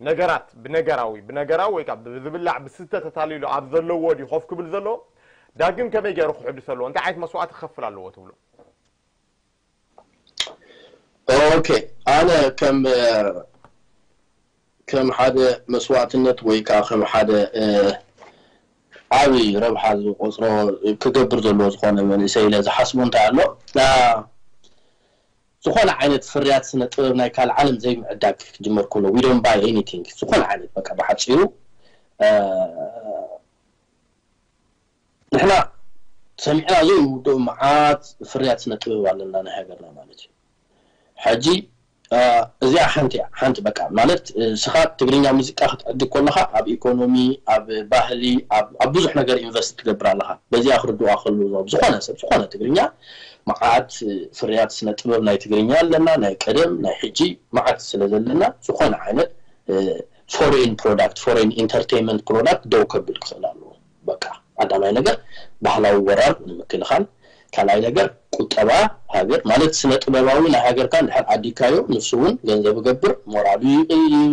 ነገራት ብነገራዊ ብነገራዊ ወይ ከዓ ብዝብላዕ ብስተ ተታሊሉ ኣብ ዘለዎ ድዩ ኮፍ ክብል ዘለዎ ዳግም ከመይ ገይሩ ክሕድስ ኣለዎ? እንታይ ዓይነት መስዋእቲ ክኸፍል ኣለዎ ትብሉ? ኦኬ፣ ኣነ ከም ከም ሓደ መስዋእትነት ወይ ከዓ ከም ሓደ ዓብይ ረብሓ ዝቆፅሮ ክገብር ዘለዎ ዝኾነ መንእሰይ ኢለ ዝሓስቡ እንታይ ኣሎ? ዝኾነ ዓይነት ፍርያት ስነ ጥበብ ናይ ካልእ ዓለም ዘይምዕዳግ ክጅመር ከሎ፣ we don't buy anything። ዝኾነ ዓይነት በቃ ብሓፂሩ ንሕና ሰሚዕና ዘይንውድኦ መዓት ፍርያት ስነ ጥበብ ኣለና ናይ ሃገርና ማለት እዩ። ሕጂ እዚኣ ሓንቲ እያ፣ ሓንቲ በቃ ማለት እስኻ ትግርኛ ሙዚቃ ክትዕድግ ከለኻ ኣብ ኢኮኖሚ፣ ኣብ ባህሊ፣ ኣብ ብዙሕ ነገር ኢንቨስት ትገብር ኣለኻ። በዚኣ ክርድዋ ከሉ ዝኾነ ሰብ ዝኾነ ትግርኛ መዓት ፍርያት ስነ ጥበብ ናይ ትግርኛ ኣለና፣ ናይ ቀደም ናይ ሕጂ መዓት ስለ ዘለና ዝኾነ ዓይነት ፎሬን ፕሮዳክት፣ ፎሬን ኢንተርቴይንመንት ፕሮዳክት ደው ከብል ክኽእል ኣለዎ። በቃ ቀዳማይ ነገር ባህላዊ ወራር ንምክልኻል፣ ካልኣይ ነገር ቁጠባ ሃገር ማለት ስነ ጥበባዊ ናይ ሃገርካ እንድሕር ኣዲካዮ ንሱ እውን ገንዘብ ይገብር፣ ሞራሉ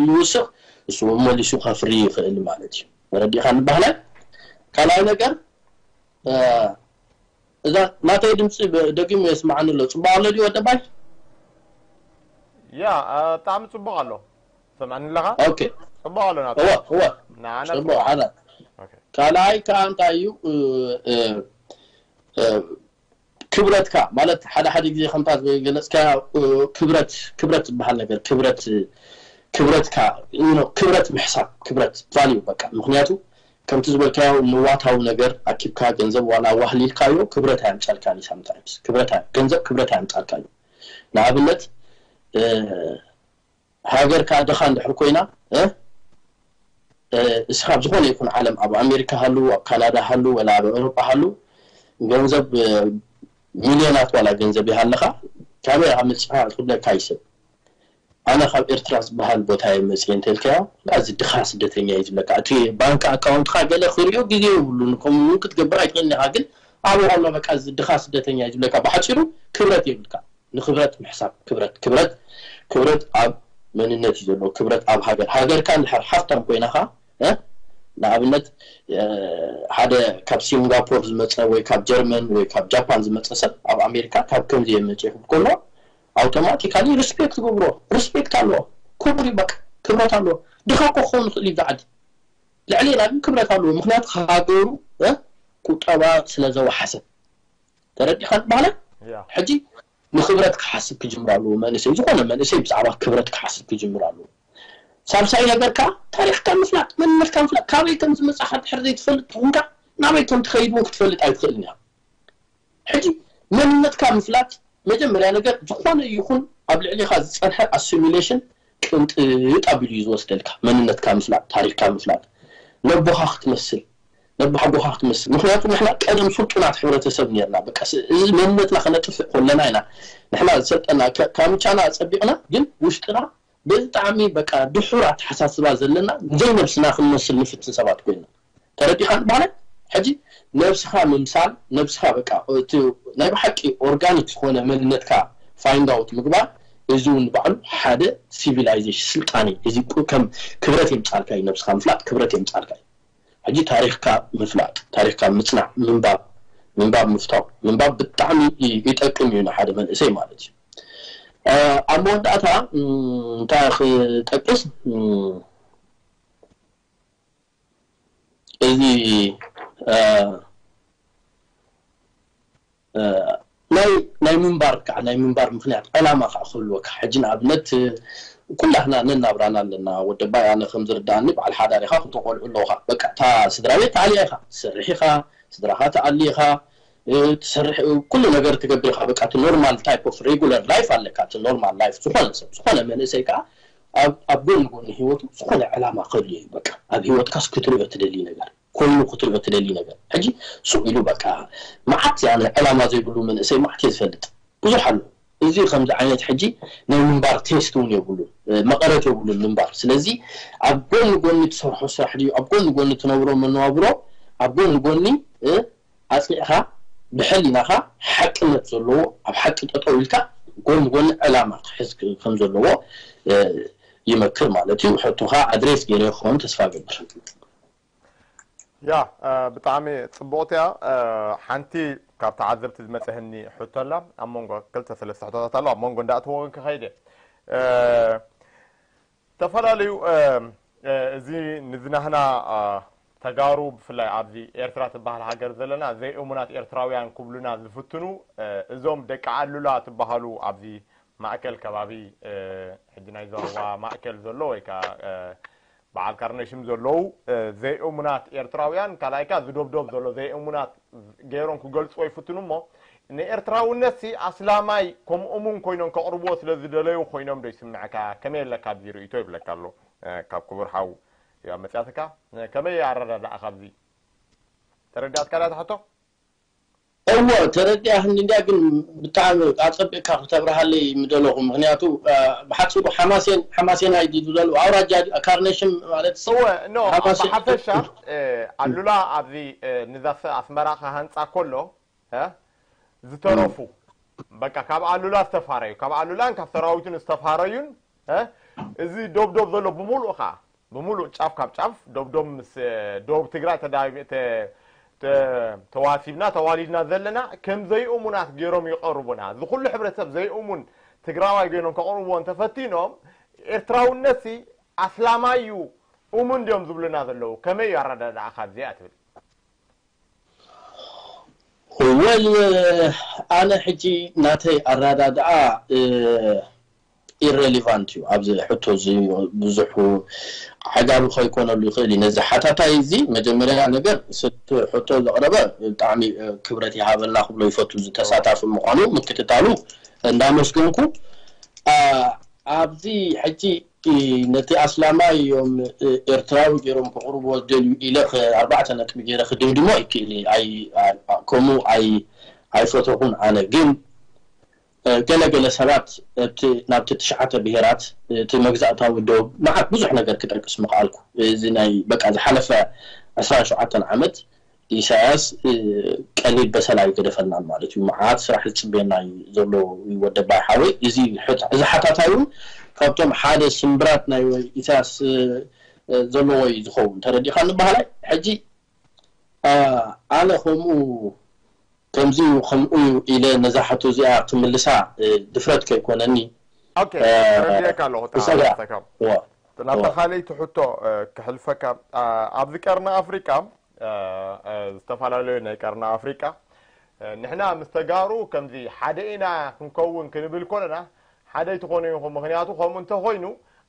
ይውስኽ፣ ንሱ እውን መሊሱ ከፍሪ ይኽእል ማለት እዩ። ተረዲእካ ንባህላይ። ካልኣይ ነገር እዛ ናተይ ድምፂ ደጊሙ የስማዓኒ ኣሎ። ፅቡቅ ኣሎ ድዩ ወደባይ? ያ ብጣዕሚ ፅቡቅ ኣሎ። ሰምዐኒ ኣለኻ? ኦኬ ፅቡቅ ኣሎ ናተ እወ እወ ንዓና ፅቡቅ ሓደ ካልኣይ ከዓ እንታይ እዩ ክብረትካ ማለት ሓደ ሓደ ግዜ ከምታ ዝገለፅካ ክብረት ክብረት ዝበሃል ነገር ክብረት ክብረትካ ክብረት ምሕሳብ ክብረት ቫልዩ በቃ ምክንያቱ ከምቲ ዝበልካዮ ንዋታዊ ነገር ኣኪብካ ገንዘብ ዋላ ዋህሊልካዮ ክብረት ኣየምፀልካን እዩ ሳምታይምስ ክብረት ገንዘብ ክብረት ኣየምፀልካን እዩ ንኣብነት ሃገርካ ድኻ እንድሕር ኮይና እስኻ ኣብ ዝኾነ ይኹን ዓለም ኣብ ኣሜሪካ ሃሉ ኣብ ካናዳ ሃሉ ወላ ኣብ ኤውሮጳ ሃሉ ገንዘብ ሚልዮናት ዋላ ገንዘብ ይሃለኻ ካበይ ኢኻ መፂኻ ክብለካ ይስብ ኣነ ካብ ኤርትራ ዝበሃል ቦታ እየ መፅእ እንተልካዮ እዚ ድኻ ስደተኛ እዩ ዝብለካ እቲ ባንክ ኣካውንትካ ገለ ክሪኦ ግዜ የብሉን ከምኡ እውን ክትገብር ኣይትኽእልን ኢኻ ግን ኣብኡ ኣሎ በቃ እዚ ድኻ ስደተኛ እዩ ዝብለካ ብሓፂሩ ክብረት የብልካ ንክብረት ምሕሳብ ክብረት ክብረት ክብረት ኣብ መንነት እዩ ዘለዎ ክብረት ኣብ ሃገር ሃገርካ እንድሕር ሃፍታም ኮይናኻ ንኣብነት ሓደ ካብ ሲንጋፖር ዝመፀ ወይ ካብ ጀርመን ወይ ካብ ጃፓን ዝመፀ ሰብ ኣብ ኣሜሪካ ካብ ከምዚ የመፅእ ክብል ከሎ ኣውቶማቲካሊ ሪስፔክት ትገብሮ ሪስፔክት ኣለዎ ክቡር እዩ በቃ ክብረት ኣለዎ ድኻ እኮ ክኸውን ይኽእል እዩ ብዓዲ ልዕሌና ግን ክብረት ኣለዎ ምክንያቱ ሃገሩ ቁጠባ ስለ ዘወሓሰ ተረዲኻ ዝበሃለ ሕጂ ንክብረት ክሓስብ ክጅምር ኣለዎ መንእሰይ ዝኾነ መንእሰይ ብዛዕባ ክብረት ክሓስብ ክጅምር ኣለዎ ሳልሳይ ነገር ከዓ ታሪኽካ ምፍላጥ መንነትካ ምፍላጥ ካበይ ከም ዝመፃኻ ድሕር ዘይትፈልጥ ትኹንካ ናበይ ከም ትኸይድ እውን ክትፈልጥ ኣይትኽእልን ኢኻ ሕጂ መንነትካ ምፍላጥ መጀመርያ ነገር ዝኾነ ይኹን ኣብ ልዕሊኻ ዝፀንሐ ኣሲሚሌሽን ቅንጥጥ ኣቢሉ እዩ ዝወስደልካ መንነትካ ምፍላጥ ታሪኽካ ምፍላጥ ነቦኻ ክትመስል ነቦሓጎኻ ክትመስል ምክንያቱ ንሕና ቀደም ስልጡናት ሕብረተሰብ ነርና በቃ እዚ መንነትና ከነጥፍእ ከለና ኢና ንሕና ዝሰልጠና ካምቻና ፀቢቕና ግን ውሽጥና ብጣዕሚ በቃ ድሑር ኣተሓሳስባ ዘለና ዘይነብስና ክንመስል ንፍትን ሰባት ኮይና ተረዲኻ ንባህለ ሕጂ ነብስኻ ምምሳል ነብስኻ በቃ እቲ ናይ ብሓቂ ኦርጋኒክ ዝኾነ መንነትካ ፋይንድ ኣውት ምግባር እዚ እውን ባዕሉ ሓደ ሲቪላይዜሽን ስልጣኔ እዚ ከም ክብረት የምፃልካ እዩ ነብስኻ ምፍላጥ ክብረት የምፃልካ እዩ ሕጂ ታሪኽካ ምፍላጥ ታሪኽካ ምፅናዕ ምንባብ ምንባብ ምፍታው ምንባብ ብጣዕሚ ይጠቅም እዩ ንሓደ መንእሰይ ማለት እዩ ኣብ መወዳእታ እንታይ ክጠቅስ እዚ ናይ ናይ ምንባር ከዓ ናይ ምንባር ምክንያት ዕላማ ከዓ ክህልወካ ሕጂ ንኣብነት ኩላህና ነናብራና ኣለና ወደባይ ኣነ ከም ዝርዳእኒ በዓል ሓዳር ኢካ ክልተ ቆልዑ ኣለውካ በቃ እታ ስድራ ቤት ተኣልያ ኢካ ትሰርሕ ኢካ ስድራካ ተኣሊ ኢካ ትሰርሕ ኩሉ ነገር ትገብር ኢካ በቃ እቲ ኖርማል ታይፕ ኦፍ ሬጉለር ላይፍ ኣለካ እቲ ኖርማል ላይፍ ዝኾነ ሰብ ዝኾነ መንእሰይ ከዓ ኣብ ጎኒ ጎኒ ህይወቱ ዝኾነ ዕላማ ክህልዮ እዩ በቃ ኣብ ህይወትካስ ክትሪኦ ትደሊ ነገር ኮይኑ ክትሪኦ ትደሊ ነገር ሕጂ ሱቕ ኢሉ በቃ መዓት ያነ ዕላማ ዘይብሉ መንእሰይ መዓት እየ ዝፈልጥ ብዙሕ ኣሎ እዚ ከምዚ ዓይነት ሕጂ ናይ ምንባር ቴስት እውን የብሉን መቐረት የብሉን ምንባር ስለዚ ኣብ ጎኒ ጎኒ ትሰርሖ ስራሕ ድዩ ኣብ ጎኒ ጎኒ ትነብሮ መነባብሮ ኣብ ጎኒ ጎኒ ኣፅኒዕኻ ብሕሊናኻ ሓቅነት ዘለዎ ኣብ ሓቂ ጠጠው ኢልካ ጎኒ ጎኒ ዕላማ ክሕዝ ከም ዘለዎ ይመክር ማለት እዩ ሕቶኻ ኣድሬስ ገይረ ክኸውን ተስፋ ገብር ያ ብጣዕሚ ጽቡቕቲ እያ። ሓንቲ ካብ ተዓዘብቲ ዝመጸህኒ ሕቶ ኣላ። ኣብ መንጎ ክልተ ሰለስተ ሕቶታት ኣሎ፣ ኣብ መንጎ እንዳእተወ ክኸይድ እየ። ዝተፈላለዩ እዚ ንዝናህና ተጋሩ፣ ብፍላይ ኣብዚ ኤርትራ ትበሃል ሃገር ዘለና ዘይእሙናት ኤርትራውያን ክብሉና ዝፍትኑ፣ እዞም ደቂ ኣሉላ ትበሃሉ ኣብዚ ማእከል ከባቢ፣ ሕጂ ናይ ዞባ ማእከል ዘሎ ወይ ከዓ በዓል ካርነሽም ዘለዉ ዘይእሙናት ኤርትራውያን፣ ካልኣይ ከኣ ዝዶብዶብ ዘሎ ዘይእሙናት ገይሮም ክገልጽዎ ይፍትኑ እሞ፣ ንኤርትራውነት ሲ ኣስላማይ ከም እሙን ኮይኖም ከቕርብዎ ስለ ዝደለዩ ኮይኖም ዶ ይስምዕካ? ከመይ ኣለካ ኣብዚ ርእይቶ ይብለካ ኣሎ። ካብ ክቡር ሓው እያ መጽያትካ። ከመይ ኣረዳድኣኻ ኣብዚ? ተረዳእትካ ዳ ትሕቶ? እወ፣ ተረዲኣህኒ እንድያ፣ ግን ብጣዕሚ ኣጸቢቕካ ክተብርሃለይ ምደለኹ። ምኽንያቱ ብሓጺሩ ሓማሴን ሓማሴናይ ድዩ ዘሎ ኣውራጃ ካርነሽም ማለት እወ፣ ኖ፣ ሓማሴን ብሓፈሻ ኣሉላ ኣብዚ ንዛ ኣስመራ ክሃንጻ ከሎ ዝተረፉ፣ በቃ ካብ ኣሉላ ዝተፋረዩ፣ ካብ ኣሉላን ካብ ሰራዊቱን ዝተፋረዩን፣ እዚ ዶብዶብ ዘሎ ብምሉእ ከዓ ብምሉእ ጫፍ ካብ ጫፍ ዶብዶብ ምስ ዶብ ትግራይ ተዋሲብና ተዋሊድና ዘለና ከም ዘይእሙናት ገይሮም ይቐርቡና። እዚ ኩሉ ሕብረተሰብ ዘይእሙን ትግራዋይ ገይሮም ከቕርብዎ እንተፈቲኖም፣ ኤርትራውነት ሲ ኣስላማይ እዩ፣ እሙን ድዮም ዝብሉና ዘለዉ? ከመይ እዩ ኣረዳድኣ ካብዚኣ ትብል? ወል ኣነ ሕጂ ናተይ ኣረዳድኣ ኢረሊቫንት እዩ። ኣብዚ ሕቶ እዚ ብዙሕ ዓጋቢ ከይኮነሉ ይኽእል እዩ። ነዚ ሓታታይ እዚ መጀመርያ ነገር ስቲ ሕቶ ዘቕረበ ብጣዕሚ ክብረት ይሃበልና ክብሎ ይፈቱ፣ እዚ ተሳታፊ ምዃኑ ምክትታሉ እንዳመስገንኩ ኣብዚ ሕጂ ነቲ ኣስላማይ እዮም ኤርትራዊ ገይሮም ከቕርብዎ ዝደልዩ ኢለ ኣርባዕተ ነጥቢ ገይረ ክድምድሞ ይክእል እየ። ከምኡ ኣይፈተኹን። ኣነ ግን ገለገለ ሰባት ናብቲ ትሽዓተ ብሄራት እቲ መግዛእታዊ ዶብ መዓት ብዙሕ ነገር ክጠቅስ ምኽኣልኩ። እዚ ናይ በቃ ዝሓለፈ ዕስራን ሸውዓተን ዓመት ኢሳያስ ቀሊል በሰላ ኣይገደፈልናን ማለት እዩ። መዓት ስራሕ ዝፅበየና እዩ ዘሎ ወደባይ ሓወይ። እዚ እዚ ሓታታይ እውን ካብቶም ሓደ ስምብራት ናይ ኢሳያስ ዘለዎ እዩ ዝኸውን። ተረዲእካ ንበሃላይ ሕጂ ኣነ ከምኡ ከምዚ እዩ ከምኡ እዩ ኢለ ነዛ ሕቶ እዚኣ ክምልሳ ድፍረት ከይኮነኒ ተረዲእካ ኣለኹ። ናብታ ካልኣይቲ ሕቶ ክሕልፈካ። ኣብዚ ቀርኒ ኣፍሪቃ ዝተፈላለዩ ናይ ቀርኒ ኣፍሪቃ ንሕና ምስ ተጋሩ ከምዚ ሓደ ኢና ክንከውን ክንብል ኮለና ሓደ ኣይትኾኑ ኢኹም። ምኽንያቱ ከምኡ እንተኾይኑ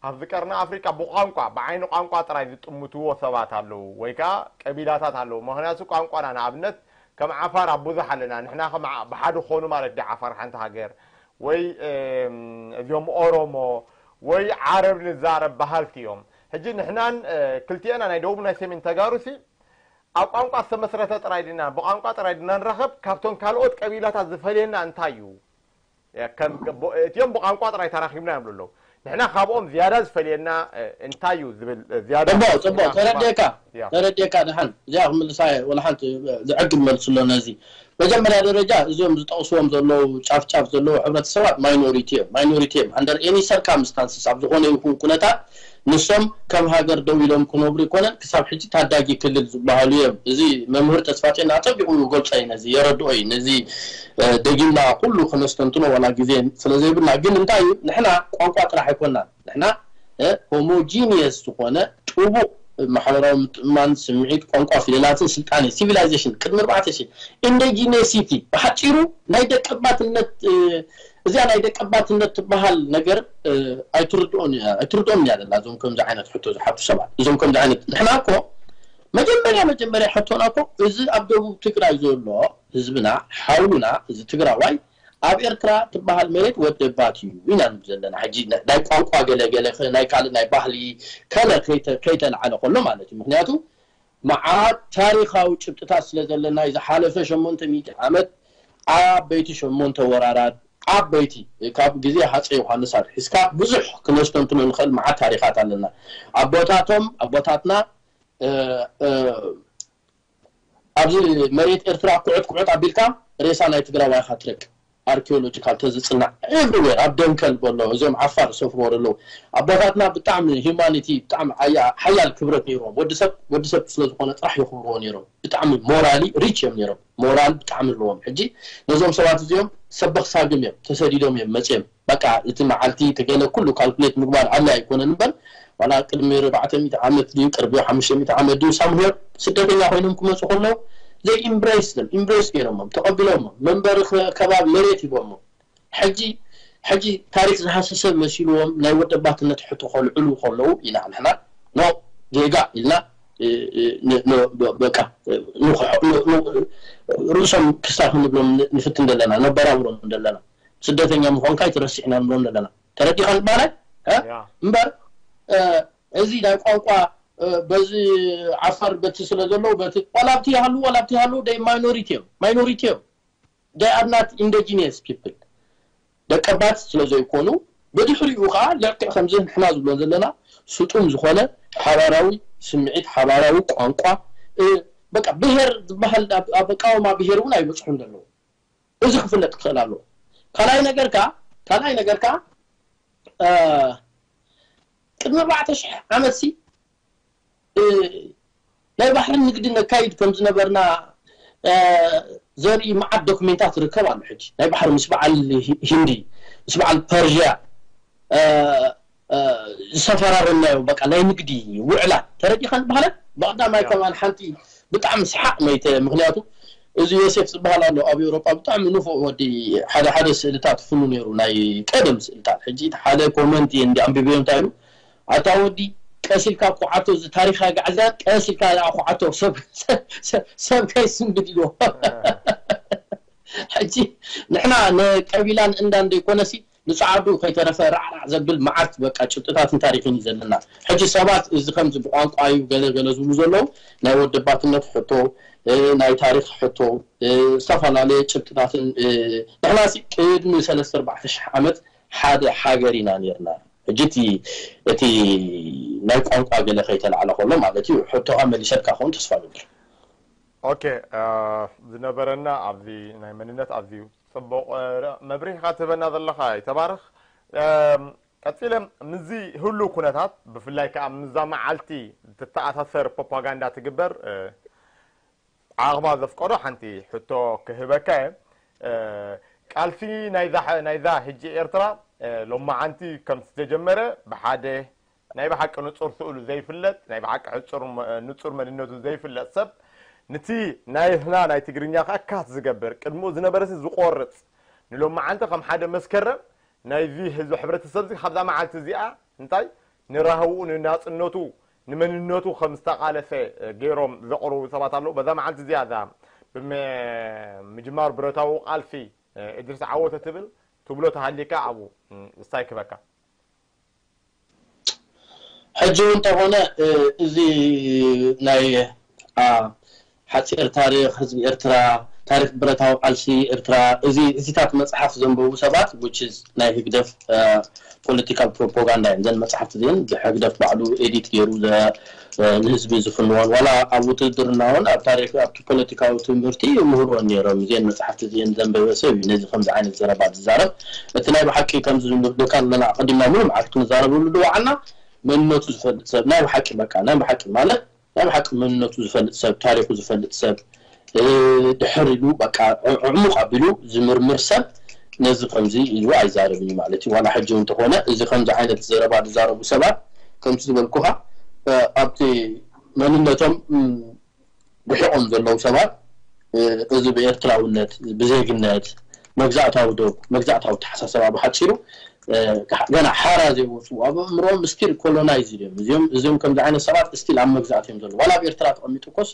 ኣብዚ ቀርኒ ኣፍሪቃ ብቋንቋ ብዓይኒ ቋንቋ ጥራይ ዝጥምትዎ ሰባት ኣለዉ ወይ ከዓ ቀቢላታት ኣለዉ። ምኽንያቱ ቋንቋና ንኣብነት ከም ዓፋር ኣብ ብዙሕ ኣለና። ንሕና ከም ብሓደ ክኾኑ ማለት ዲ ዓፋር ሓንቲ ሃገር ወይ እዚኦም ኦሮሞ ወይ ዓረብ ንዛረብ በሃልቲ እዮም። ሕጂ ንሕናን ክልቲኤና ናይ ደቡብ ናይ ሰሜን ተጋሩ ሲ ኣብ ቋንቋ ዝተመስረተ ጥራይ ድና ብቋንቋ ጥራይ ድና ንራኸብ? ካብቶም ካልኦት ቀቢላታት ዝፈልየና እንታይ እዩ? እቲኦም ብቋንቋ ጥራይ ተራኺብና እዮም ኣለዉ። ንሕና ካብኦም ዝያዳ ዝፈልየና እንታይ እዩ ዝብል ዝያዳ ጽቡቕ ጽቡቕ ተረዲእካ ተረዲእካ ድሓን እዚኣ ክምልሳ ወላ ሓንቲ ዝዕግብ መልስሎ ነዚ መጀመርያ ደረጃ እዚኦም ዝጠቕስዎም ዘለዉ ጫፍ ጫፍ ዘለዉ ሕብረተሰባት ማይኖሪቲ እዮም። ማይኖሪቲ እዮም under any circumstances ኣብ ዝኾነ ይኹን ኩነታት ንሶም ከም ሃገር ደው ኢሎም ክነብሩ ይኮነን ክሳብ ሕጂ ታዳጊ ክልል ዝበሃሉ እዮም። እዚ መምህር ተስፋጼን ኣጸቢቑ ይገልጾ እዩ ነዚ የረድኦ እዩ ነዚ ደጊምና ኩሉ ክነስተንትኖ ዋላ ግዜ ስለዘይብልና ግን እንታይ እዩ ንሕና ቋንቋ ጥራሕ ኣይኮናን ንሕና homogeneous ዝኾነ ጥቡቕ ማሕበራዊ ምትእምማን ስምዒት ቋንቋ ፊደላትን ስልጣነ civilization ቅድሚ ኣርባዕተ ሺሕ indigeneity ብሓፂሩ ናይ ደቀባትነት እዚኣ ናይ ደቀባትነት ትበሃል ነገር ኣይትርድኦን እያ ዘላ እዞም ከምዚ ዓይነት ሕቶ ዝሓቱ ሰባት እዞም ከምዚ ዓይነት ንሕና እኮ መጀመርያ መጀመርያ ሕቶና እኮ እዚ ኣብ ደቡብ ትግራይ ዘሎ ህዝብና ሓውና እዚ ትግራዋይ ኣብ ኤርትራ ትበሃል መሬት ወደባት እዩ ኢና ንብ ዘለና ሕጂ ናይ ቋንቋ ገለገለ ናይ ካልእ ናይ ባህሊ ከለ ከይተልዓለ ከሎ ማለት እዩ ምክንያቱ መዓት ታሪኻዊ ጭብጥታት ስለ ዘለና ዝሓለፈ ሸሞንተ ሚእቲ ዓመት ዓበይቲ ሸሞንተ ወራራት ዓበይቲ ካብ ግዜ ሃፀ ዮሃንስ ኣትሒዝካ ብዙሕ ክነስተንትኖ ንኽእል መዓት ታሪኻት ኣለና ኣቦታቶም ኣቦታትና ኣብዚ መሬት ኤርትራ ኩዕት ኩዕት ኣቢልካ ሬሳ ናይ ትግራዋይ ኢኻ ትረክብ ኣርኪኦሎጂካል ተዝፅናዕ ኤቭሪዌር ኣብ ደንከል በሎ እዚኦም ዓፋር ዝሰፍርዎ ዘለዉ ኣቦታትና ብጣዕሚ ሂማኒቲ ብጣዕሚ ሓያል ክብረት ነይርዎም። ወዲሰብ ወዲሰብ ስለዝኾነ ጥራሕ የኽብርዎ ነይሮም። ብጣዕሚ ሞራሊ ሪች እዮም ነይሮም። ሞራል ብጣዕሚ ኣለዎም። ሕጂ ነዞም ሰባት እዚኦም ሰበኽ ሳግም እዮም፣ ተሰዲዶም እዮም መፅኦም። በቃ እቲ መዓልቲ ተገለ ኩሉ ካልኩሌት ምግባር ኣድላይ ኣይኮነን እምበር ዋላ ቅድሚ ኣርባዕተ ሚእቲ ዓመት ድዩ ቅርቢ ሓሙሽተ ሚእቲ ዓመት ድዩ ሳምሄር ስደተኛ ኮይኖም ክመፁ ከለዉ ዘይ ኢምብሬስ ኢምብሬስ ገይሮሞም ተቐቢሎሞም መንበሪ ከባቢ መሬት ሂቦሞም። ሕጂ ሕጂ ታሪክ ዝሃሰሰ መሲልዎም ናይ ወደባትነት ሕቶ ከልዕሉ ከለዉ ኢና ንሕና ኖ ጌጋ ኢልና በቃ ርእሶም ክስታይ ክንብሎም ንፍትን ዘለና ነበራብሮም ዘለና ስደተኛ ምዃንካ ኣይትረስዕና ንብሎም ዘለና ተረዲኻ ንባላይ እምበር እዚ ናይ ቋንቋ በዚ ዓፋር በቲ ስለ ዘለዉ በቲ ዋላ ኣብቲ ይሃሉ ዋላ ኣብቲ ይሃሉ ደይ ማይኖሪቲ እዮም ማይኖሪቲ እዮም they are not indigenous people ደቀባት ስለ ዘይኮኑ ብድሕሪኡ ከዓ ልክዕ ከምዚ ንሕና ዝብሎ ዘለና ስጡም ዝኾነ ሓባራዊ ስምዒት ሓባራዊ ቋንቋ በቃ ብሄር ዝበሃል ኣብ ኣቃውማ ብሄር እውን ኣይበፅሑን ዘለዉ እዚ ክፍለጥ ክኽእል ኣለዎ ካልኣይ ነገር ከዓ ካልኣይ ነገር ከዓ ቅድሚ ኣርባዕተ ሽሕ ዓመት ሲ ናይ ባሕሪ ንግዲ ነካይድ ከም ዝነበርና ዘርኢ መዓት ዶክሜንታት ይርከብ ኣሎ ሕጂ ናይ ባሕሪ ምስ በዓል ሂንዲ ምስ በዓል ፐርዥያ ዝሰፈራረናዮ በቃ ናይ ንግዲ ውዕላ ተረዲኻ ዝበሃለ ብቀዳማይ ከማን ሓንቲ ብጣዕሚ ሰሓቕ መይተ ምክንያቱ እዚ ዮሴፍ ዝበሃል ኣሎ ኣብ ኤውሮጳ ብጣዕሚ ንፉዕ ወዲ ሓደ ሓደ ስእልታት ፍኑ ነይሩ ናይ ቀደም ስእልታት ሕጂ ሓደ ኮመንት እየ እንዲ ኣንቢበዮ እንታይ ኢሉ ኣታ ወዲ ቀስ ኢልካ ኩዓቶ እዚ ታሪኻ ጋዕዛ ቀስ ኢልካ ኩዓቶ ሰብ ሰብ ከይስንብድ ኢልዎ ሕጂ ንሕና ንቀቢላን እንዳ እንደይኮነሲ ንጻዕዱ ከይተረፈ ራዕራዕ ዘብል መዓት በቃ ጭብጥታትን ታሪኽን እዩ ዘለና። ሕጂ ሰባት እዚ ከምዚ ብቋንቋ እዩ ገለ ገለ ዝብሉ ዘለዉ ናይ ወደባትነት ሕቶ ናይ ታሪኽ ሕቶ ዝተፈላለየ ጭብጥታትን ንሕናሲ ቅድሚ ሰለስተ ኣርባዕተ ሽሕ ዓመት ሓደ ሃገር ኢና ነርና። ሕጂ እቲ እቲ ናይ ቋንቋ ገለ ከይተላዕለ ከሎ ማለት እዩ። ሕቶኻ መሊሰልካ ክኸውን ተስፋ እገብር። ኦኬ ዝነበረና ኣብዚ ናይ መንነት ኣዝዩ ጽቡቕ መብርሂኻ ትህበና ዘለኻ ይተባረኽ። ቀጺለ ምስዚ ህሉ ኩነታት ብፍላይ ከዓ ምስዛ መዓልቲ ትተኣሳሰር ፕሮፓጋንዳ ትግበር ዓቕማ ዘፍቀዶ ሓንቲ ሕቶ ክህበካ እየ። ቃልሲ ናይዛ ሕጂ ኤርትራ ሎማዓንቲ ከም ዝተጀመረ ብሓደ ናይ ብሓቂ ንጹር ስእሉ ዘይፍለጥ ናይ ብሓቂ ሕጹር ንጹር መንነቱ ዘይፍለጥ ሰብ ንቲ ናይህና ናይ ትግርኛ ከዓ ካት ዝገብር ቅድሚኡ ዝነበረሲ ዝቆርጽ ንሎማዓንቲ ከም ሓደ መስከረም ናይዚ ህዝቢ ሕብረተሰብ እዚ ካብዛ መዓልቲ እዚኣ እንታይ ንራህውኡ ንናጽነቱ ንመንነቱ ከም ዝተቃለሰ ገይሮም ዘቕርቡ ሰባት ኣለዉ። በዛ መዓልቲ እዚኣ እዛ ብምጅማር ብረታዊ ቃልሲ እድሪስ ዓወተ ትብል ትብሎ ተሃሊካ ኣብኡ እስታይ ክበካ ሕጂ እውን እንተኾነ እዚ ናይ ሓፂር ታሪክ ህዝቢ ኤርትራ ታሪክ ብረታዊ ቃልሲ ኤርትራ እዚ እዚታት መፅሓፍ ዘንበቡ ሰባት which is ናይ ህግደፍ ፖለቲካል ፕሮፓጋንዳ እዮም ዘን መፅሓፍቲ እዚን ብህግደፍ ባዕሉ ኤዲት ገይሩ ንህዝቢ ዝፍንዎን ዋላ ኣብ ውትድርና እውን ኣብ ታሪክ ኣብቲ ፖለቲካዊ ትምህርቲ ይምህርዎን ነይሮም እዚን መፅሓፍቲ እዚን ዘንበበ ሰብ እዩ ነዚ ከምዚ ዓይነት ዘረባ ዝዛረብ እቲ ናይ ብሓቂ ከምዚ ንብለካ ኣለና ኣቀዲምና ሙሉ መዓልቲ ክንዛረበሉ ዝወዓልና መንነቱ ዝፈልጥ ሰብ ናይ ብሓቂ በቃ ናይ ብሓቂ ማለት ናይ ብሓቂ መንነቱ ዝፈልጥ ሰብ ታሪኩ ዝፈልጥ ሰብ ድሕር ኢሉ በቃ ዕሙቕ ኣቢሉ ዝምርምር ሰብ ነዚ ከምዚ ኢሉ ኣይዛረብን እዩ ማለት እዩ ዋላ ሕጂ እውን እንተኾነ እዚ ከምዚ ዓይነት ዘረባ ዝዛረቡ ሰባት ከምቲ ዝበልኩኻ ኣብቲ መንነቶም ርሒቖም ዘለዉ ሰባት እዚ ብኤርትራውነት ብዜግነት መግዛእታዊ ዶብ መግዛእታዊ ተሓሳሰባ ብሓፂሩ ገና ሓራ ዘይወፁ ኣብ ኣእምሮም ስቲል ኮሎናይዝ እዮም እዚኦም እዚኦም ከምዚ ዓይነት ሰባት ስቲል ኣብ መግዛእት እዮም ዘለዉ ዋላ ኣብ ኤርትራ ተቐሚጡ ኮስ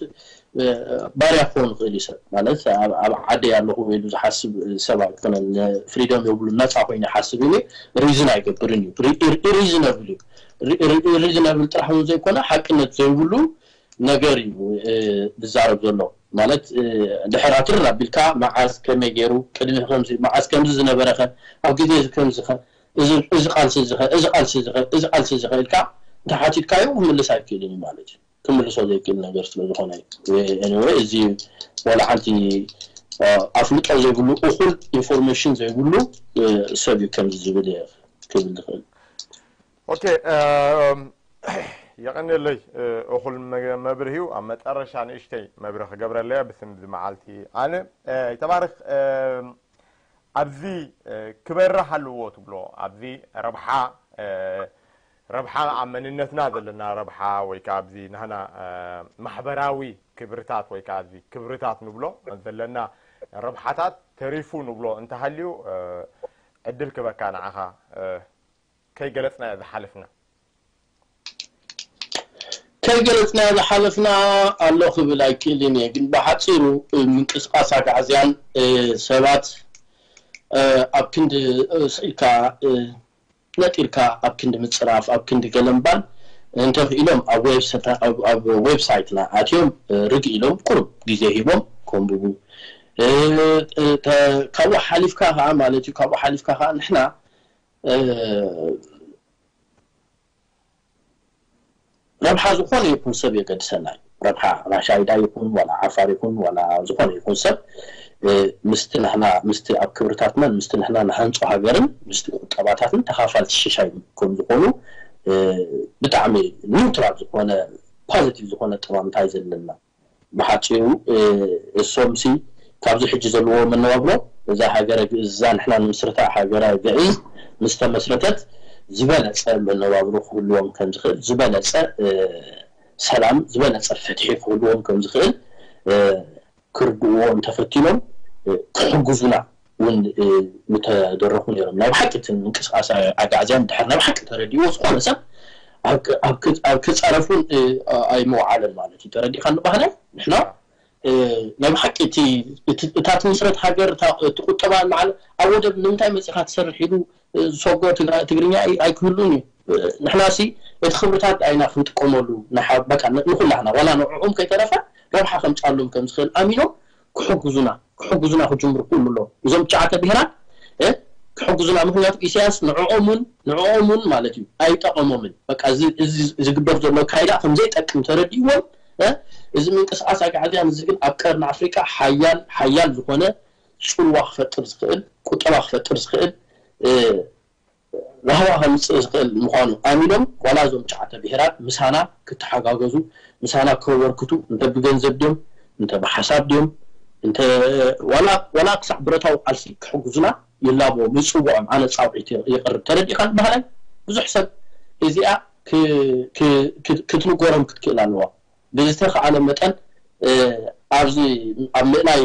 ባርያ ክኾን ይኽእል እዩ ሰብ ማለት ኣብ ዓደይ ኣለኹ ኢሉ ዝሓስብ ሰብ ኣይኮነን ፍሪደም የብሉ ነፃ ኮይኑ ይሓስብ ኢሉ ሪዝን ኣይገብርን እዩ ኢሪዝነብል እዩ ኢሪዝነብል ጥራሕ እውን ዘይኮነ ሓቅነት ዘይብሉ ነገር እዩ ዝዛረብ ዘሎ ማለት ድሕር ኣትርር ኣቢልካ መዓዝ ከመይ ገይሩ ቅድሚ ከምዚ መዓዝ ከምዚ ዝነበረኸ ኣብ ግዜ እዚ ከምዚ ኸ እዚ ቃልሲ እዚ ኸ እዚ ቃልሲ እዚ ኸ እዚ ቃልሲ እዚ ኸ ኢልካ እንተሓቲትካዮ ክምልስ ኣይክእልን እዩ ማለት እዩ ክምልሶ ዘይክእል ነገር ስለ ዝኾነ እዩ anyway እዚ ዋላ ሓንቲ ኣፍልጦ ዘይብሉ፣ እኹል ኢንፎርሜሽን ዘይብሉ ሰብ እዩ ከምዚ ዝብል እየ ክብል ዝኽእል። ኦኬ። የቐንየለይ። እኹል መብርሂ እዩ። ኣብ መጠረሻ ንእሽተይ መብርሂ ክገብረለያ ብስም እዚ መዓልቲ ኣነ። ተባረኽ። ኣብዚ ክበርህ ኣለዎ ትብሎ፣ ኣብዚ ረብሓ ረብሓ ኣብ መንነትና ዘለና ረብሓ ወይ ከዓ ኣብዚ ናህና ማሕበራዊ ክብርታት ወይ ከዓ እዚ ክብርታት ንብሎ ዘለና ረብሓታት ተሪፉ ንብሎ እንተሃልዩ ዕድል ክበካ ንዓኻ። ከይገለፅና ዝሓለፍና ከይገለፅና ዝሓለፍና ኣሎ ክብል ኣይክእልን እየ፣ ግን ብሓፂሩ ምንቅስቃስ ኣጋዕዝያን ሰባት ኣብ ክንዲ ስኢልካ ነጢርካ ኣብ ክንዲ ምፅራፍ ኣብ ክንዲ ገለምባል እንተኽኢሎም ኣብ ዌብሳይትና ኣትዮም ርግ ኢሎም ቁሩብ ግዜ ሂቦም ከንብቡ ካብኡ ሓሊፍካ ከዓ ማለት እዩ። ካብኡ ሓሊፍካ ከዓ ንሕና ረብሓ ዝኾነ ይኹን ሰብ የገድሰና እዩ። ረብሓ ራሻይዳ ይኹን ዋላ ዓፋር ይኹን ዋላ ዝኾነ ይኹን ሰብ ምስቲ ንሕና ምስቲ ኣብ ክብርታትናን ምስቲ ንሕና ንሃንፆ ሃገርን ምስቲ ቁጠባታትን ተኻፋልቲ ሽሻይ ከም ዝኾኑ ብጣዕሚ ኒውትራል ዝኾነ ፖዚቲቭ ዝኾነ ጠማምታ እዩ ዘለና። ብሓፂሩ እሶምሲ ካብዚ ሕጂ ዘለዎ መነባብሮ እዛ ሃገረ ግእዝ እዛ ንሕና ንምስርታ ሃገረ ግእዝ ምስ ተመስረተት ዝበለፀ መነባብሮ ክህልዎም ከም ዝኽእል ዝበለፀ ሰላም ዝበለፀ ፍትሒ ክህልዎም ከም ዝኽእል ክርድእዎ እንተፈቲኖም ክሕግዙና እውን ምተደረኹ ነይሮም። ናይ ብሓቂ እቲ ምንቅስቃስ ኣጋዕዝያን ድሕር ናይ ብሓቂ ተረዲእዎ ዝኾነ ሰብ ኣብ ክፀረፍ እውን ኣይመውዓለን ማለት እዩ። ተረዲእካ ንባህላይ ንሕና ናይ ብሓቂ እታ ትምስረት ሃገር እቲ ቁጠባ በዓል ኣብ ወደብ ንምንታይ መፂኻ ትሰርሕ ኢሉ ዝሰጎ ትግርኛ ኣይክህሉን እዩ። ንሕና ሲ እቲ ክብርታት ኣይና ክንጥቀመሉ ንኩላህና ዋላ ንዕኦም ከይተረፈ ረብሓ ከምፃሉም ከም ዝኽእል ኣሚኖም ክሕግዙና ክሕግዙና ክጅምሩ ክእሉ ኣለዎም። እዞም ትሽዓተ ብሄራት ክሕግዙና። ምክንያቱ ኢሳያስ ንዕኦምን ንዕኦምን ማለት እዩ ኣይጠቐሞምን። በቃ እዚ ዝግበር ዘሎ ካይዳ ከም ዘይጠቅም ተረዲእዎም እዚ ምንቅስቃስ ኣጋዕዝያን እዚ ግን ኣብ ቀርኒ ኣፍሪቃ ሓያል ሓያል ዝኾነ ፅልዋ ክፈጥር ዝኽእል ቁጠባ ክፈጥር ዝኽእል ራህዋ ከምፅእ ዝኽእል ምዃኑ ኣሚኖም ዋላ እዞም ትሽዓተ ብሄራት ምሳና ክተሓጋገዙ ምሳና ከበርክቱ እንተ ብገንዘብ ድዮም እንተ ብሓሳብ ድዮም እንተ ዋላ ክሳዕ ብረታዊ ቃልሲ ክሕግዙና ይላበዎም ይፅውዖም። ኣነ ፃውዒት የቕርብ። ተረዲእካ ዝበሃላይ ብዙሕ ሰብ እዚኣ ክትንገሮም ክትክእል ኣለዋ። ብዝተኸኣለ መጠን ኣብዚ ኣብ ምእላይ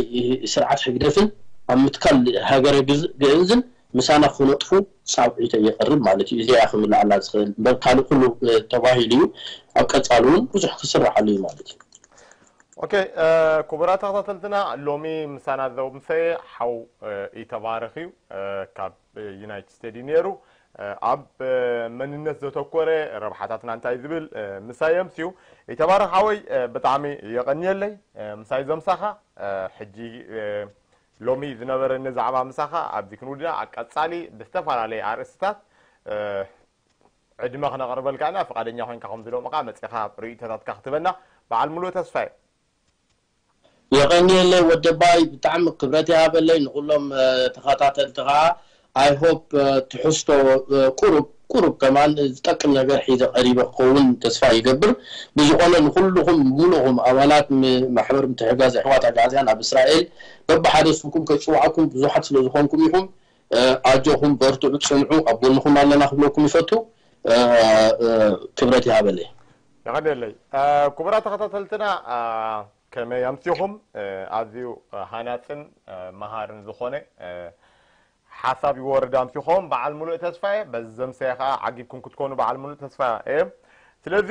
ስርዓት ሕግደፍን ኣብ ምትካል ሃገረ ግእዝን ምሳና ክነጥፉ ፃውዒተ የቕርብ ማለት እዩ። እዚኣ ክምልኣላ ዝኽእል እምበር ካልእ ኩሉ ተባሂሉ እዩ። ኣብ ቀፃሉ እውን ብዙሕ ክስራሓሉ እዩ ማለት እዩ። ኦኬ ክቡራት ተኸታተልትና ሎሚ ምሳና ዘምሰየ ሓው ይተባረኽ እዩ ካብ ዩናይትድ ስቴትስ እዩ ነይሩ። ኣብ መንነት ዘተኮረ ረብሓታትና እንታይ ዝብል ምሳይ የምስዩ። ይተባረኽ ሓወይ ብጣዕሚ የቐንየለይ ምሳይ ዘምሳኻ። ሕጂ ሎሚ ዝነበረኒ ዛዕባ ምሳኻ ኣብዚ ክንውድኣ ኣብ ቀፃሊ ብዝተፈላለየ ኣርእስትታት ዕድመ ክነቕርበልካ ኢና። ፍቓደኛ ኮይንካ ከምዚ ሎሚ ከዓ መፂኻ ርእይቶታትካ ክትበና በዓል ሙሉእ ተስፋ እየ። የቐንየለይ ወደባይ ብጣዕሚ ክብረት ይሃበለይ ንኩሎም ተኸታተልቲ ከዓ I hope ትሕዝቶ ቁሩብ ቁሩብ ከማን ዝጠቅም ነገር ሒዘ ቀሪበ ክኸውን ተስፋ ይገብር። ብዝኾነ ንኩልኹም ሙሉኹም ኣባላት ማሕበር ምትሕጋዝ ኣሕዋት ኣግኣዝያን ኣብ እስራኤል በብሓደ ስምኩም ከይፅዋዕኩም ብዙሓት ስለዝኾንኩም ኢኹም ኣጆኹም በርትዑ ፅንዑ ኣብ ጎንኹም ኣለና ክብለኩም ይፈቱ። ክብረት ይሃበለይ። የቐንየለይ ክቡራት ተኸታተልትና ከመይ ኣምሲኹም? ኣዝዩ ሃናፅን መሃርን ዝኾነ ሓሳብ ይወርድ ኣምሲኹም። በዓል ሙሉእ ተስፋየ በዚ ዘምሰየ ከዓ ዓጊብኩም ክትኮኑ በዓል ሙሉእ ተስፋ እየ። ስለዚ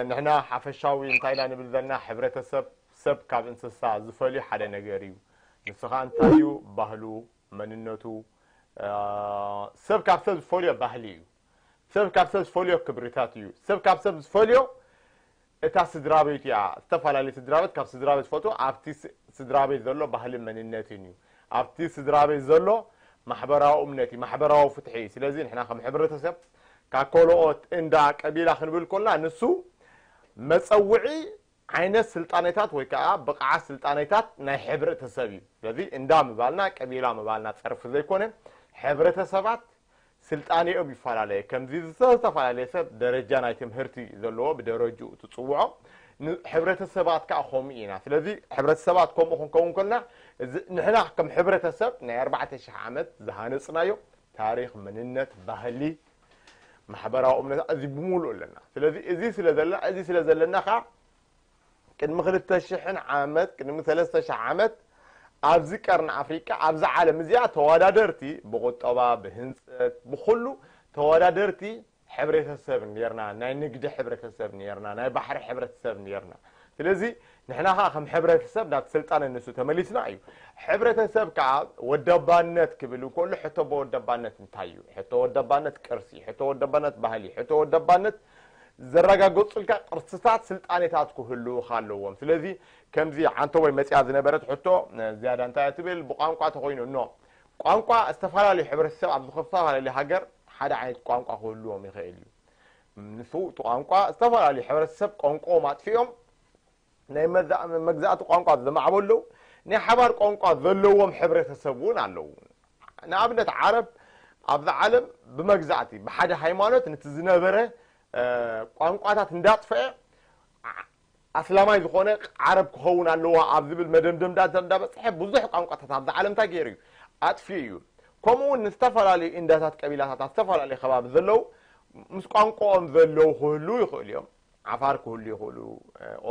ንሕና ሓፈሻዊ እንታይ ኢና ንብል ዘለና ሕብረተሰብ ሰብ ካብ እንስሳ ዝፈልዩ ሓደ ነገር እዩ። ንሱ ከዓ እንታይ እዩ? ባህሉ፣ መንነቱ። ሰብ ካብ ሰብ ዝፈልዮ ባህሊ እዩ። ሰብ ካብ ሰብ ዝፈልዮ ክብርታት እዩ። ሰብ ካብ ሰብ ዝፈልዮ እታ ስድራ ቤት እያ። ዝተፈላለዩ ስድራ ቤት ካብ ስድራ ቤት ዝፈትዎ ኣብቲ ስድራ ቤት ዘሎ ባህልን መንነትን እዩ። ኣብቲ ስድራ ቤት ዘሎ ማሕበራዊ እምነት እዩ፣ ማሕበራዊ ፍትሒ እዩ። ስለዚ ንሕና ከም ሕብረተሰብ ካብ ካልኦት እንዳ ቀቢላ ክንብል ከለና ንሱ መፀውዒ ዓይነት ስልጣኔታት ወይ ከዓ ብቕዓት ስልጣኔታት ናይ ሕብረተሰብ እዩ። ስለዚ እንዳ ምባልና ቀቢላ ምባልና ጸርፊ ዘይኮነ፣ ሕብረተሰባት ስልጣኔኦም ይፈላለየ። ከምዚ ዝተፈላለየ ሰብ ደረጃ ናይ ትምህርቲ ዘለዎ ብደረጅኡ ትጽውዖ፣ ን- ሕብረተሰባት ከዓ ከምኡ ኢና። ስለዚ ሕብረተሰባት ከምኡ ክንከውን ከልና፣ እዚ ንሕና ከም ሕብረተሰብ ናይ ኣርባዕተ ሽሕ ዓመት ዝሃነጽናዮ ታሪኽ፣ መንነት፣ ባህሊ፣ ማሕበራዊ እምነት፣ እዚ ብምሉእ ኣለና። ስለዚ እዚ ስለ ዘለና፣ እዚ ስለ ዘለና ከዓ ቅድሚ ክልተ ሽሕን ዓመት፣ ቅድሚ ሰለስተ ሽሕ ዓመት ኣብዚ ቀርኒ ኣፍሪቃ፣ ኣብዚ ዓለም እዚኣ ተወዳደርቲ ብቁጠባ፣ ብህንፀት፣ ብኩሉ ተወዳደርቲ ሕብረተሰብ ነርና፣ ናይ ንግዲ ሕብረተሰብ ነርና፣ ናይ ባሕሪ ሕብረተሰብ ነርና። ስለዚ ንሕና ከዓ ከም ሕብረተሰብ ናብ ስልጣነ ንሱ ተመሊስና እዩ። ሕብረተሰብ ከዓ ወደባነት ክብል እንከሎ ሕቶ ብወደባነት እንታይ እዩ? ሕቶ ወደባነት ቅርሲ፣ ሕቶ ወደባነት ባህሊ፣ ሕቶ ወደባነት ዘረጋገጹልካ ቅርስታት ስልጣኔታት ክህልውኻ ኣለዎም። ስለዚ ከምዚ ዓንተቦይ መጽያ ዝነበረት ሕቶ ዝያዳ እንታይ እያ ትብል? ብቋንቋ ተኾይኑ እኖ ቋንቋ ዝተፈላለዩ ሕብረተሰብ ኣብ ዝተፈላለዩ ሃገር ሓደ ዓይነት ቋንቋ ክህልዎም ይኽእል እዩ። ንሱ እቲ ቋንቋ ዝተፈላለዩ ሕብረተሰብ ቋንቋኦም ኣጥፊኦም ናይ መዛ- መግዛእቲ ቋንቋ ዘማዕበሉ ናይ ሓባር ቋንቋ ዘለዎም ሕብረተሰብ እውን ኣለዉ። ንኣብነት ዓረብ ኣብዛ ዓለም ብመግዛእቲ ብሓደ ሃይማኖት ነቲ ዝነበረ እ፣ ቋንቋታት እንዳጥፈአ ዓ- ኣስላማይ ዝኾነ ዓረብ ክኸውን ኣለዋ ኣብ ዝብል መደምደምዳት እንዳበፅሐ ብዙሕ ቋንቋታት ኣብዛ ዓለም እንታይ ገይሩ እዩ ኣጥፊኡ እዩ። ከምኡ እውን ንዝተፈላለዩ እንዳታት ቀቢላታት ኣብ ዝተፈላለዩ ከባቢ ዘለዉ ምስ ቋንቋኦም ዘለዉ ክህልዉ ይኽእሉ እዮም። ዓፋር ክህሉ ይኽእሉ፣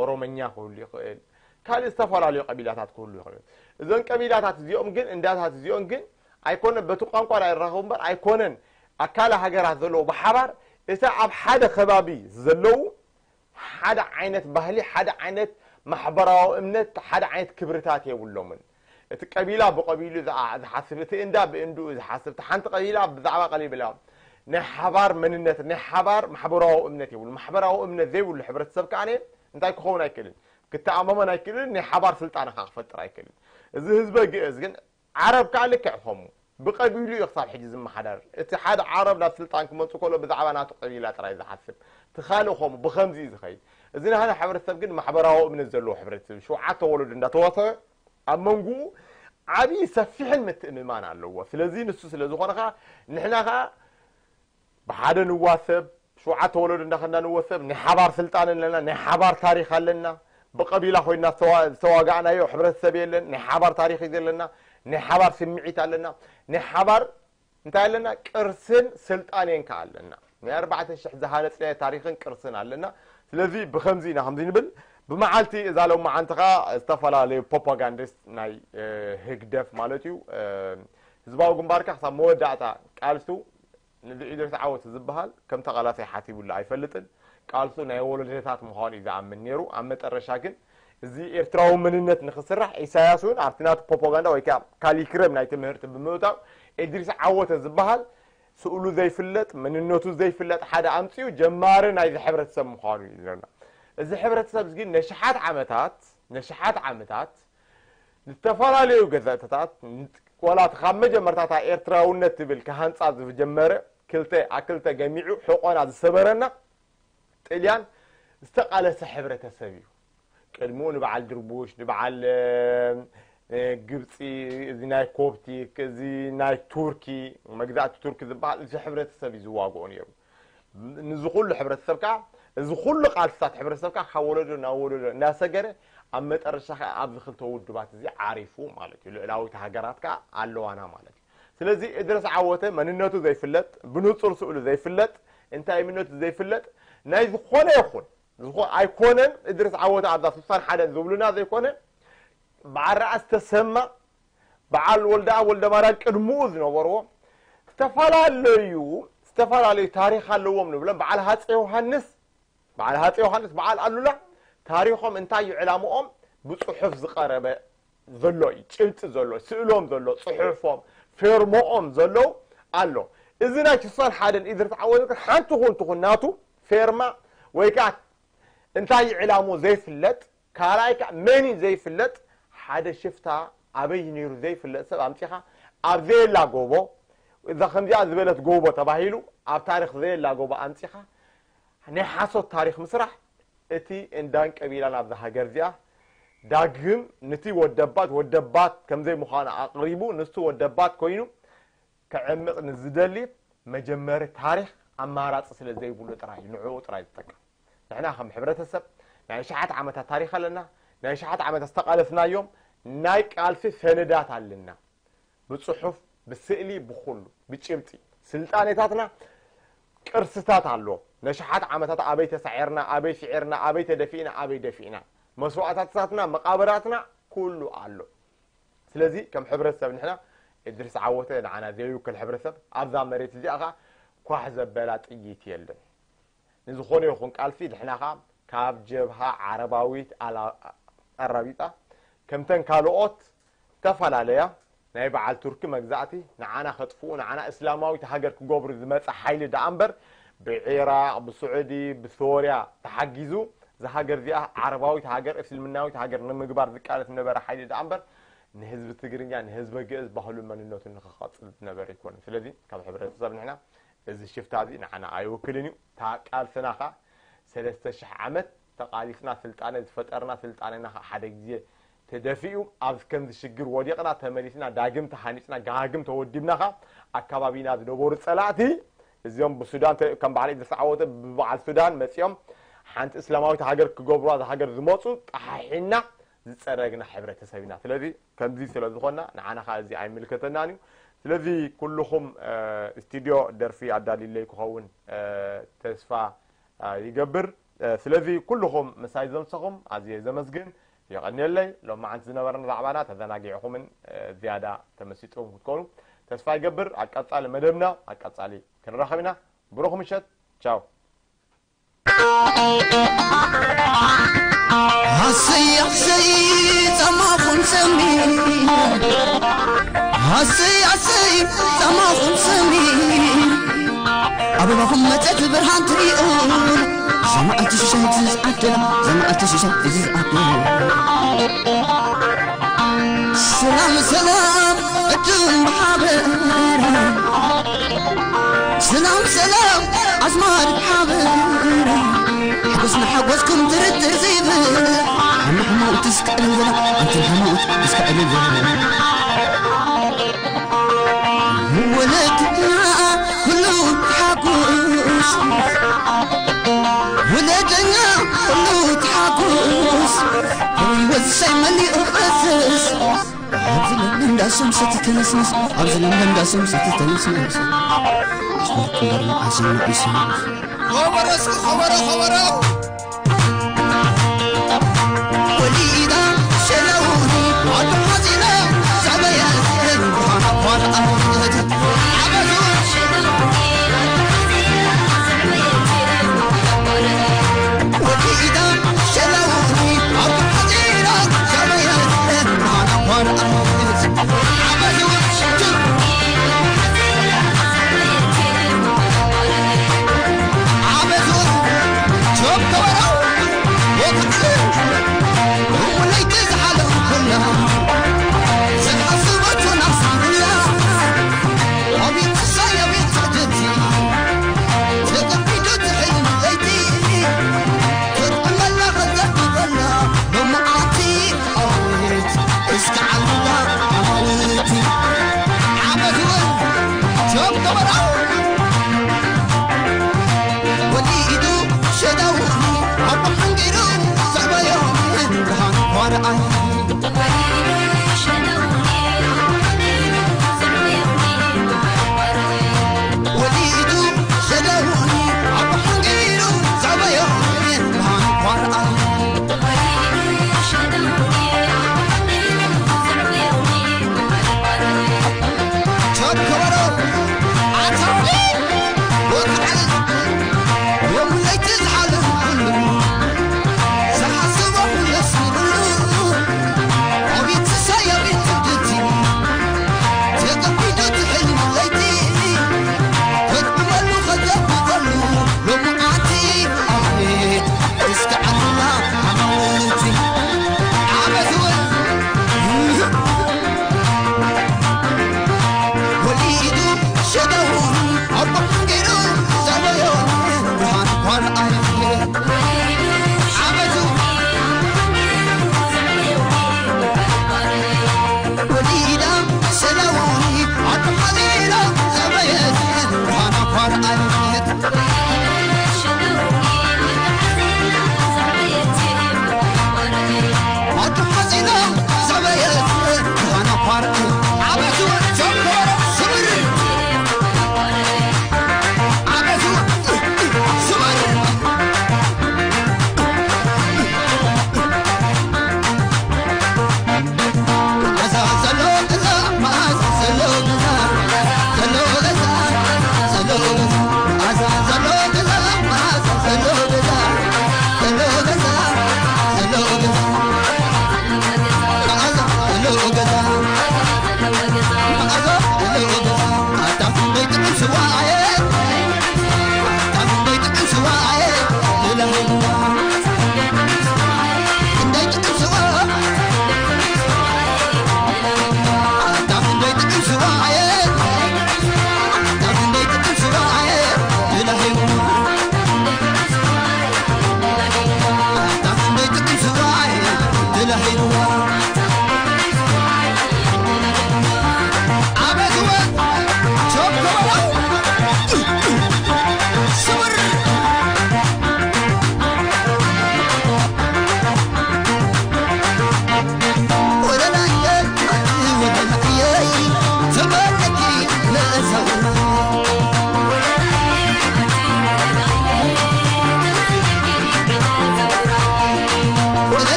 ኦሮመኛ ክህሉ ይኽእል፣ ካልእ ዝተፈላለዩ ቀቢላታት ክህሉ ይኽእሉ። እዞን ቀቢላታት እዚኦም ግን እንዳታት እዚኦም ግን ኣይኮነን በቲ ቋንቋ ዳ ይራኸቡ እምበር ኣይኮነን ኣካለ ሃገራት ዘለዉ ብሓባር እታ ኣብ ሓደ ከባቢ ዘለዉ ሓደ ዓይነት ባህሊ ሓደ ዓይነት ማሕበራዊ እምነት ሓደ ዓይነት ክብርታት የብሎምን። እቲ ቀቢላ ብቀቢሉ ዝሓስብ እቲ እንዳ ብእንድኡ ዝሓስብ እቲ ሓንቲ ቀቢላ ብዛዕባ ቀቢላ ናይ ሓባር መንነት ናይ ሓባር ማሕበራዊ እምነት የብሉ። ማሕበራዊ እምነት ዘይብሉ ሕብረተሰብ ከዓ እንታይ ክኸውን ኣይክእልን፣ ክተኣማመን ኣይክእልን፣ ናይ ሓባር ስልጣነ ከዓ ክፈጥር ኣይክእልን። እዚ ህዝበ ግእዝ ግን ዓረብ ከዓ ልክዕ ከምኡ ብቀቢሉ እዩ ክሳብ ሕጂ ዝመሓዳደር። እቲ ሓደ ዓረብ ናብ ስልጣን ክመፁ ከሎ ብዛዕባ ናቱ ቀቢላ ጥራይ ዝሓስብ፣ እቲ ካልእ ከምኡ ብከምዚ እዩ ዝኸይድ። እዚ ናህና ሕብረተሰብ ግን ማሕበራዊ እምነት ዘለዎ ሕብረተሰብ ሸውዓተ ወለዶ እንዳተዋሰበ ኣብ መንጉኡ ዓብዪ ሰፊሕን ምትእምማን ኣለዎ። ስለዚ ንሱ ስለ ዝኾነ ከዓ ንሕና ከዓ ብሓደ ንዋሰብ፣ ሸውዓተ ወለዶ እንዳኸና ንወሰብ፣ ናይ ሓባር ስልጣን ኣለና፣ ናይ ሓባር ታሪኽ ኣለና። ብቀቢላ ኮይና ዝተዋ- ዝተዋጋእናዮ ሕብረተሰብ የለን። ናይ ሓባር ታሪኽ እዩ ዘለና፣ ናይ ሓባር ስምዒት ኣለና፣ ናይ ሓባር እንታይ ኣለና? ቅርስን ስልጣኔን ከ ኣለና። ናይ ኣርባዕተ ሽሕ ዝሃነፅናዮ ታሪኽን ቅርስን ኣለና። ስለዚ ብከምዚ ኢና ከምዚ ንብል። ብመዓልቲ እዛ ሎመዓንቲ ከዓ ዝተፈላለዩ ፕሮፓጋንዲስት ናይ እ፣ ህግደፍ ማለት እዩ እ፣ ህዝባዊ ግንባርካ ክሳብ መወዳእታ ቃልሱ ንዚ ኢድሪስ ዓወት ዝበሃል ከም ተቓላሳይ ሓሲቡሉ ኣይፈልጥን። ቃልሱ ናይ ወለዶታት ምዃኑ እዩ ዝኣምን ነይሩ። ኣብ መጠረሻ ግን እዚ ኤርትራዊ መንነት ንክስራሕ ኢሳያስ እውን ኣብቲ ናቱ ፕሮፓጋንዳ ወይ ከዓ ካሊክረም ናይ ትምህርቲ ብምእታው ኢድሪስ ዓወተ ዝበሃል ስእሉ ዘይፍለጥ መንነቱ ዘይፍለጥ ሓደ ኣምፅኡ ጀማሪ ናይዚ ሕብረተሰብ ምዃኑ እዩ ዝነግረና። እዚ ሕብረተሰብ እዚ ግን ነሽሓት ዓመታት ነሽሓት ዓመታት ዝተፈላለዩ ገዛእትታት ዋላ እቲ ካብ መጀመርታታ ኤርትራውነት ትብል ክሃንፃ ዝጀመረ ክልተ ኣክልተ ገሚዑ ሕቆና ዝሰበረና ጥልያን ዝተቃለሰ ሕብረተሰብ እዩ። ቅድሚኡ ንበዓል ድርቡሽ ንበዓል እ፣ ግብፂ እዚ ናይ ኮፕቲክ እዚ ናይ ቱርኪ መግዛእቲ ቱርኪ ዝበሃል እዚ ሕብረተሰብ እዩ ዝዋግኦ ነይሩ። ንዚ ኩሉ ሕብረተሰብ ከዓ እዚ ኩሉ ቃልስታት ሕብረተሰብ ከዓ ካብ ወለዶ ናብ ወለዶ እናሰገረ ኣብ መጠረሻ ከዓ ኣብዚ ክልተ ውድባት እዚ ዓሪፉ ማለት እዩ። ልዕላዊት ሃገራት ከዓ ኣለዋና ማለት እዩ። ስለዚ እድረስ ዓወተ መንነቱ ዘይፍለጥ ብንፁር ስእሉ ዘይፍለጥ እንታይ እምነቱ ዘይፍለጥ ናይ ዝኾነ ይኹን ዝኾ- ኣይኮነን እድረስ ዓወተ ኣብዛ ስሳን ሓደን ዝብሉና ዘይኮነ በዓል ራእሲ ተሰማ በዓል ወልደኣብ ወልደማርያም ቅድምኡ ዝነበርዎ ዝተፈላለዩ ዝተፈላለዩ ታሪኽ ኣለዎም ንብሎም በዓል ሃፀ ዮሃንስ በዓል ሃፀ ዮሃንስ በዓል ኣሉላ ታሪኾም እንታይ እዩ ዕላምኦም ብፅሑፍ ዝቐረበ ዘሎ እዩ ጭብጢ ዘሎ ስእሎም ዘሎ ፅሑፎም ፌርሞኦም ዘለዉ ኣሎ። እዚ ናይ ስሳን ሓደን ኢድሪስ ዓወት ግን ሓንቲ ኩን ትኹን ናቱ ፌርማ ወይ ከዓ እንታይ እዩ ዕላምኡ ዘይፍለጥ ካልኣይ ከዓ መን እዩ ዘይፍለጥ ሓደ ሽፍታ ኣበይ ነይሩ ዘይፍለጥ ሰብ ኣምፂኻ ኣብ ዘየላ ጎቦ እዛ ከምዚኣ ዝበለት ጎቦ ተባሂሉ ኣብ ታሪኽ ዘየላ ጎቦ ኣምፂኻ ናይ ሓሶት ታሪኽ ምስራሕ እቲ እንዳን ቀቢላን ኣብዛ ሃገር እዚኣ ዳግም ንቲ ወደባት ወደባት ከምዘይ ምዃኑ ኣቕሪቡ፣ ንሱ ወደባት ኮይኑ ክዕምቕ ንዝደሊ መጀመሪ ታሪኽ ኣማራጺ ስለ ዘይብሉ ጥራይ እዩ ንዕኡ ጥራይ ዝጠቅም። ንሕና ከም ሕብረተሰብ ናይ ሸሓት ዓመታት ታሪኽ ኣለና። ናይ ሸሓት ዓመታት ዝተቓለስናዮም ናይ ቃልሲ ሰነዳት ኣለና። ብጽሑፍ፣ ብስእሊ፣ ብኹሉ፣ ብጭብጢ። ስልጣኔታትና ቅርስታት ኣለዎ። ነሽሓት ዓመታት ኣበይ ተሳዒርና፣ ኣበይ ስዒርና፣ ኣበይ ተደፊእና፣ ኣበይ ደፊእና። መስዋእታትታትና፣ መቓብራትና ኩሉ ኣሎ። ስለዚ ከም ሕብረተሰብ ንሕና እድሪስ ዓወተ ንዓና ዘይውክል ሕብረተሰብ ኣብዛ መሬት እዚኣ ኸዓ ኳሕ ዘበላ ጥይት የለን። ንዝኾነ ይኹን ቃልሲ ንሕና ኸዓ ካብ ጀብሃ ዓረባዊት ኣላ-፣ ኣራቢጣ ከምተን ካልኦት ዝተፈላለያ ናይ በዓል ቱርኪ መግዛእቲ ንዓና ከጥፍኡ፣ ንዓና እስላማዊት ሃገር ክገብሩ ዝመጸ ሓይሊ ደኣ እምበር፣ ብዒራቕ፣ ብስዑዲ፣ ብሶርያ ተሓጊዙ እዛ ሃገር እዚኣ ዓረባዊት ሃገር፣ እስልምናዊት ሃገር ንምግባር ዝቃለስ ዝነበረ ሓይሊ ደኣ እምበር፣ ንህዝቢ ትግርኛ፣ ንህዝቢ ግእዝ ባህሉን መንነቱን ንኽቐጽል ዝነበረ ኣይኮነን። ስለዚ ካብ ሕብረተሰብ ንሕና እዚ ሽፍታ እዚ ንዓና ኣይውክልን እዩ። እታ ቃልስና ኸኣ ሰለስተ ሽሕ ዓመት ተቓሊስና ስልጣነ ዝፈጠርና፣ ስልጣነና ኸኣ ሓደ ግዜ ተደፊኡ ኣብ ከምዚ ሽግር ወዲቕና፣ ተመሊስና ዳግም ተሃኒጽና፣ ዳግም ተወዲብና ኸኣ ኣካባቢና ዝነበሩ ጸላእቲ እዚኦም ብሱዳን ተ-፣ ከም በዓል ኢድሪስ ዓወተ ብበዓል ሱዳን መጺኦም ሓንቲ እስላማዊት ሃገር ክገብሩዋ እዛ ሃገር ዝመጹ ጠሓሒና ዝጸረግና ሕብረተሰብ ኢና። ስለዚ ከምዚ ስለ ዝኾንና ንዓና ኸኣ እዚ ኣይምልከተናን እዩ። ስለዚ ኩልኹም፣ እ፣ ስቱድዮ ደርፊ ኣዳልዩለይ ክኸውን፣ እ፣ ተስፋ፣ እ፣ ይገብር። እ፣ ስለዚ ኩልኹም ምሳይ ዘምሰኹም ኣዝየ ዘመስግን። የቐንየለይ። ሎማዓንቲ ዝነበረና ዛዕባና ተዘናጊዕኹምን፣ እ፣ ዝያዳ ተመሲጥኩም ክትኮኑ ተስፋ ይገብር። ኣብ ቀጻሊ መደብና፣ ኣብ ቀጻሊ ክንራኸብ ኢና። ብሩኽ ምሸት። ቻው። ሃሰይ ሃሰይ ጻማኹም ሰሚ፣ ሃሰይ ሃሰይ ጻማኹም ሰሚ፣ ኣበባኹም መጸት ብርሃን ትሪኡ፣ ዘማእቲ ሽሻይ ትዝዓደላ፣ ዘማእቲ ሽሻይ ትዝዓደላ። ሰላም ሰላም ዕድም ብሓበራ፣ ሰላም ሰላም ኣዝማድ ሓበራ፣ ሓጎስና ሓጎስኩም ትርትር ዘይብል፣ ሓማሕማኡ ትስክዕልን ዘላ፣ ኣንትን ሓማኡ ትስክዕልን ዘላ። ወለድና ኩሉ ተሓጉስ፣ ወለደኛ ኩሉ ተሓጉስ፣ ወሳይ መሊኡ ፈስስ። ኣብዚ ለምለም ዳሶም ሰቲ ተነስነስ፣ ኣብዚ ለምለም ዳሶም ሰቲ ተነስነስ። ኣሽመርኩም በርና ኣሸና ኢሱ። ኸበሮ እስኪ ኸበሮ ኸበሮ። ወሊዳ ሸለውኒ ኣዶ ሓዚነ ዘዕበየት ብርሃን ኣኳርኣት። ዓበዱ ወሊዳ ሸለውኒ ኣዶ ሓዚነ ዘዕበየት ብርሃን ኣኳርኣት። ዓበዱ ዓበዱ ጆብ ከበሮ ወግዕሉ እሙ ለይቲ ዝሓለፉ ኩላ ዝሓስበቱ ናፍሳ ኩላ ኣቤት ክሳይ ኣቤት ትዕድልቲ ተቀቢዱ ትሕልም ለይቲ ተጥዕመላ ከዘብበላ ሎማዓቲ ኣቤት እስከ ዓሉላ ኣማውቲ ዓመት እውን ጆብ ከበሮ ወሊዱ ሸዳውኒ ኣቦ ሓንጊሩ ዘዕበዮ ብርሃን ኳርኣይ ወሊዱ ሸዳውኒ ኣቦ ሓንጊሩ ዘዕበዮ ብርሃን ኳርኣይ ጆብ ከበሮ ኣታ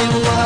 Hello.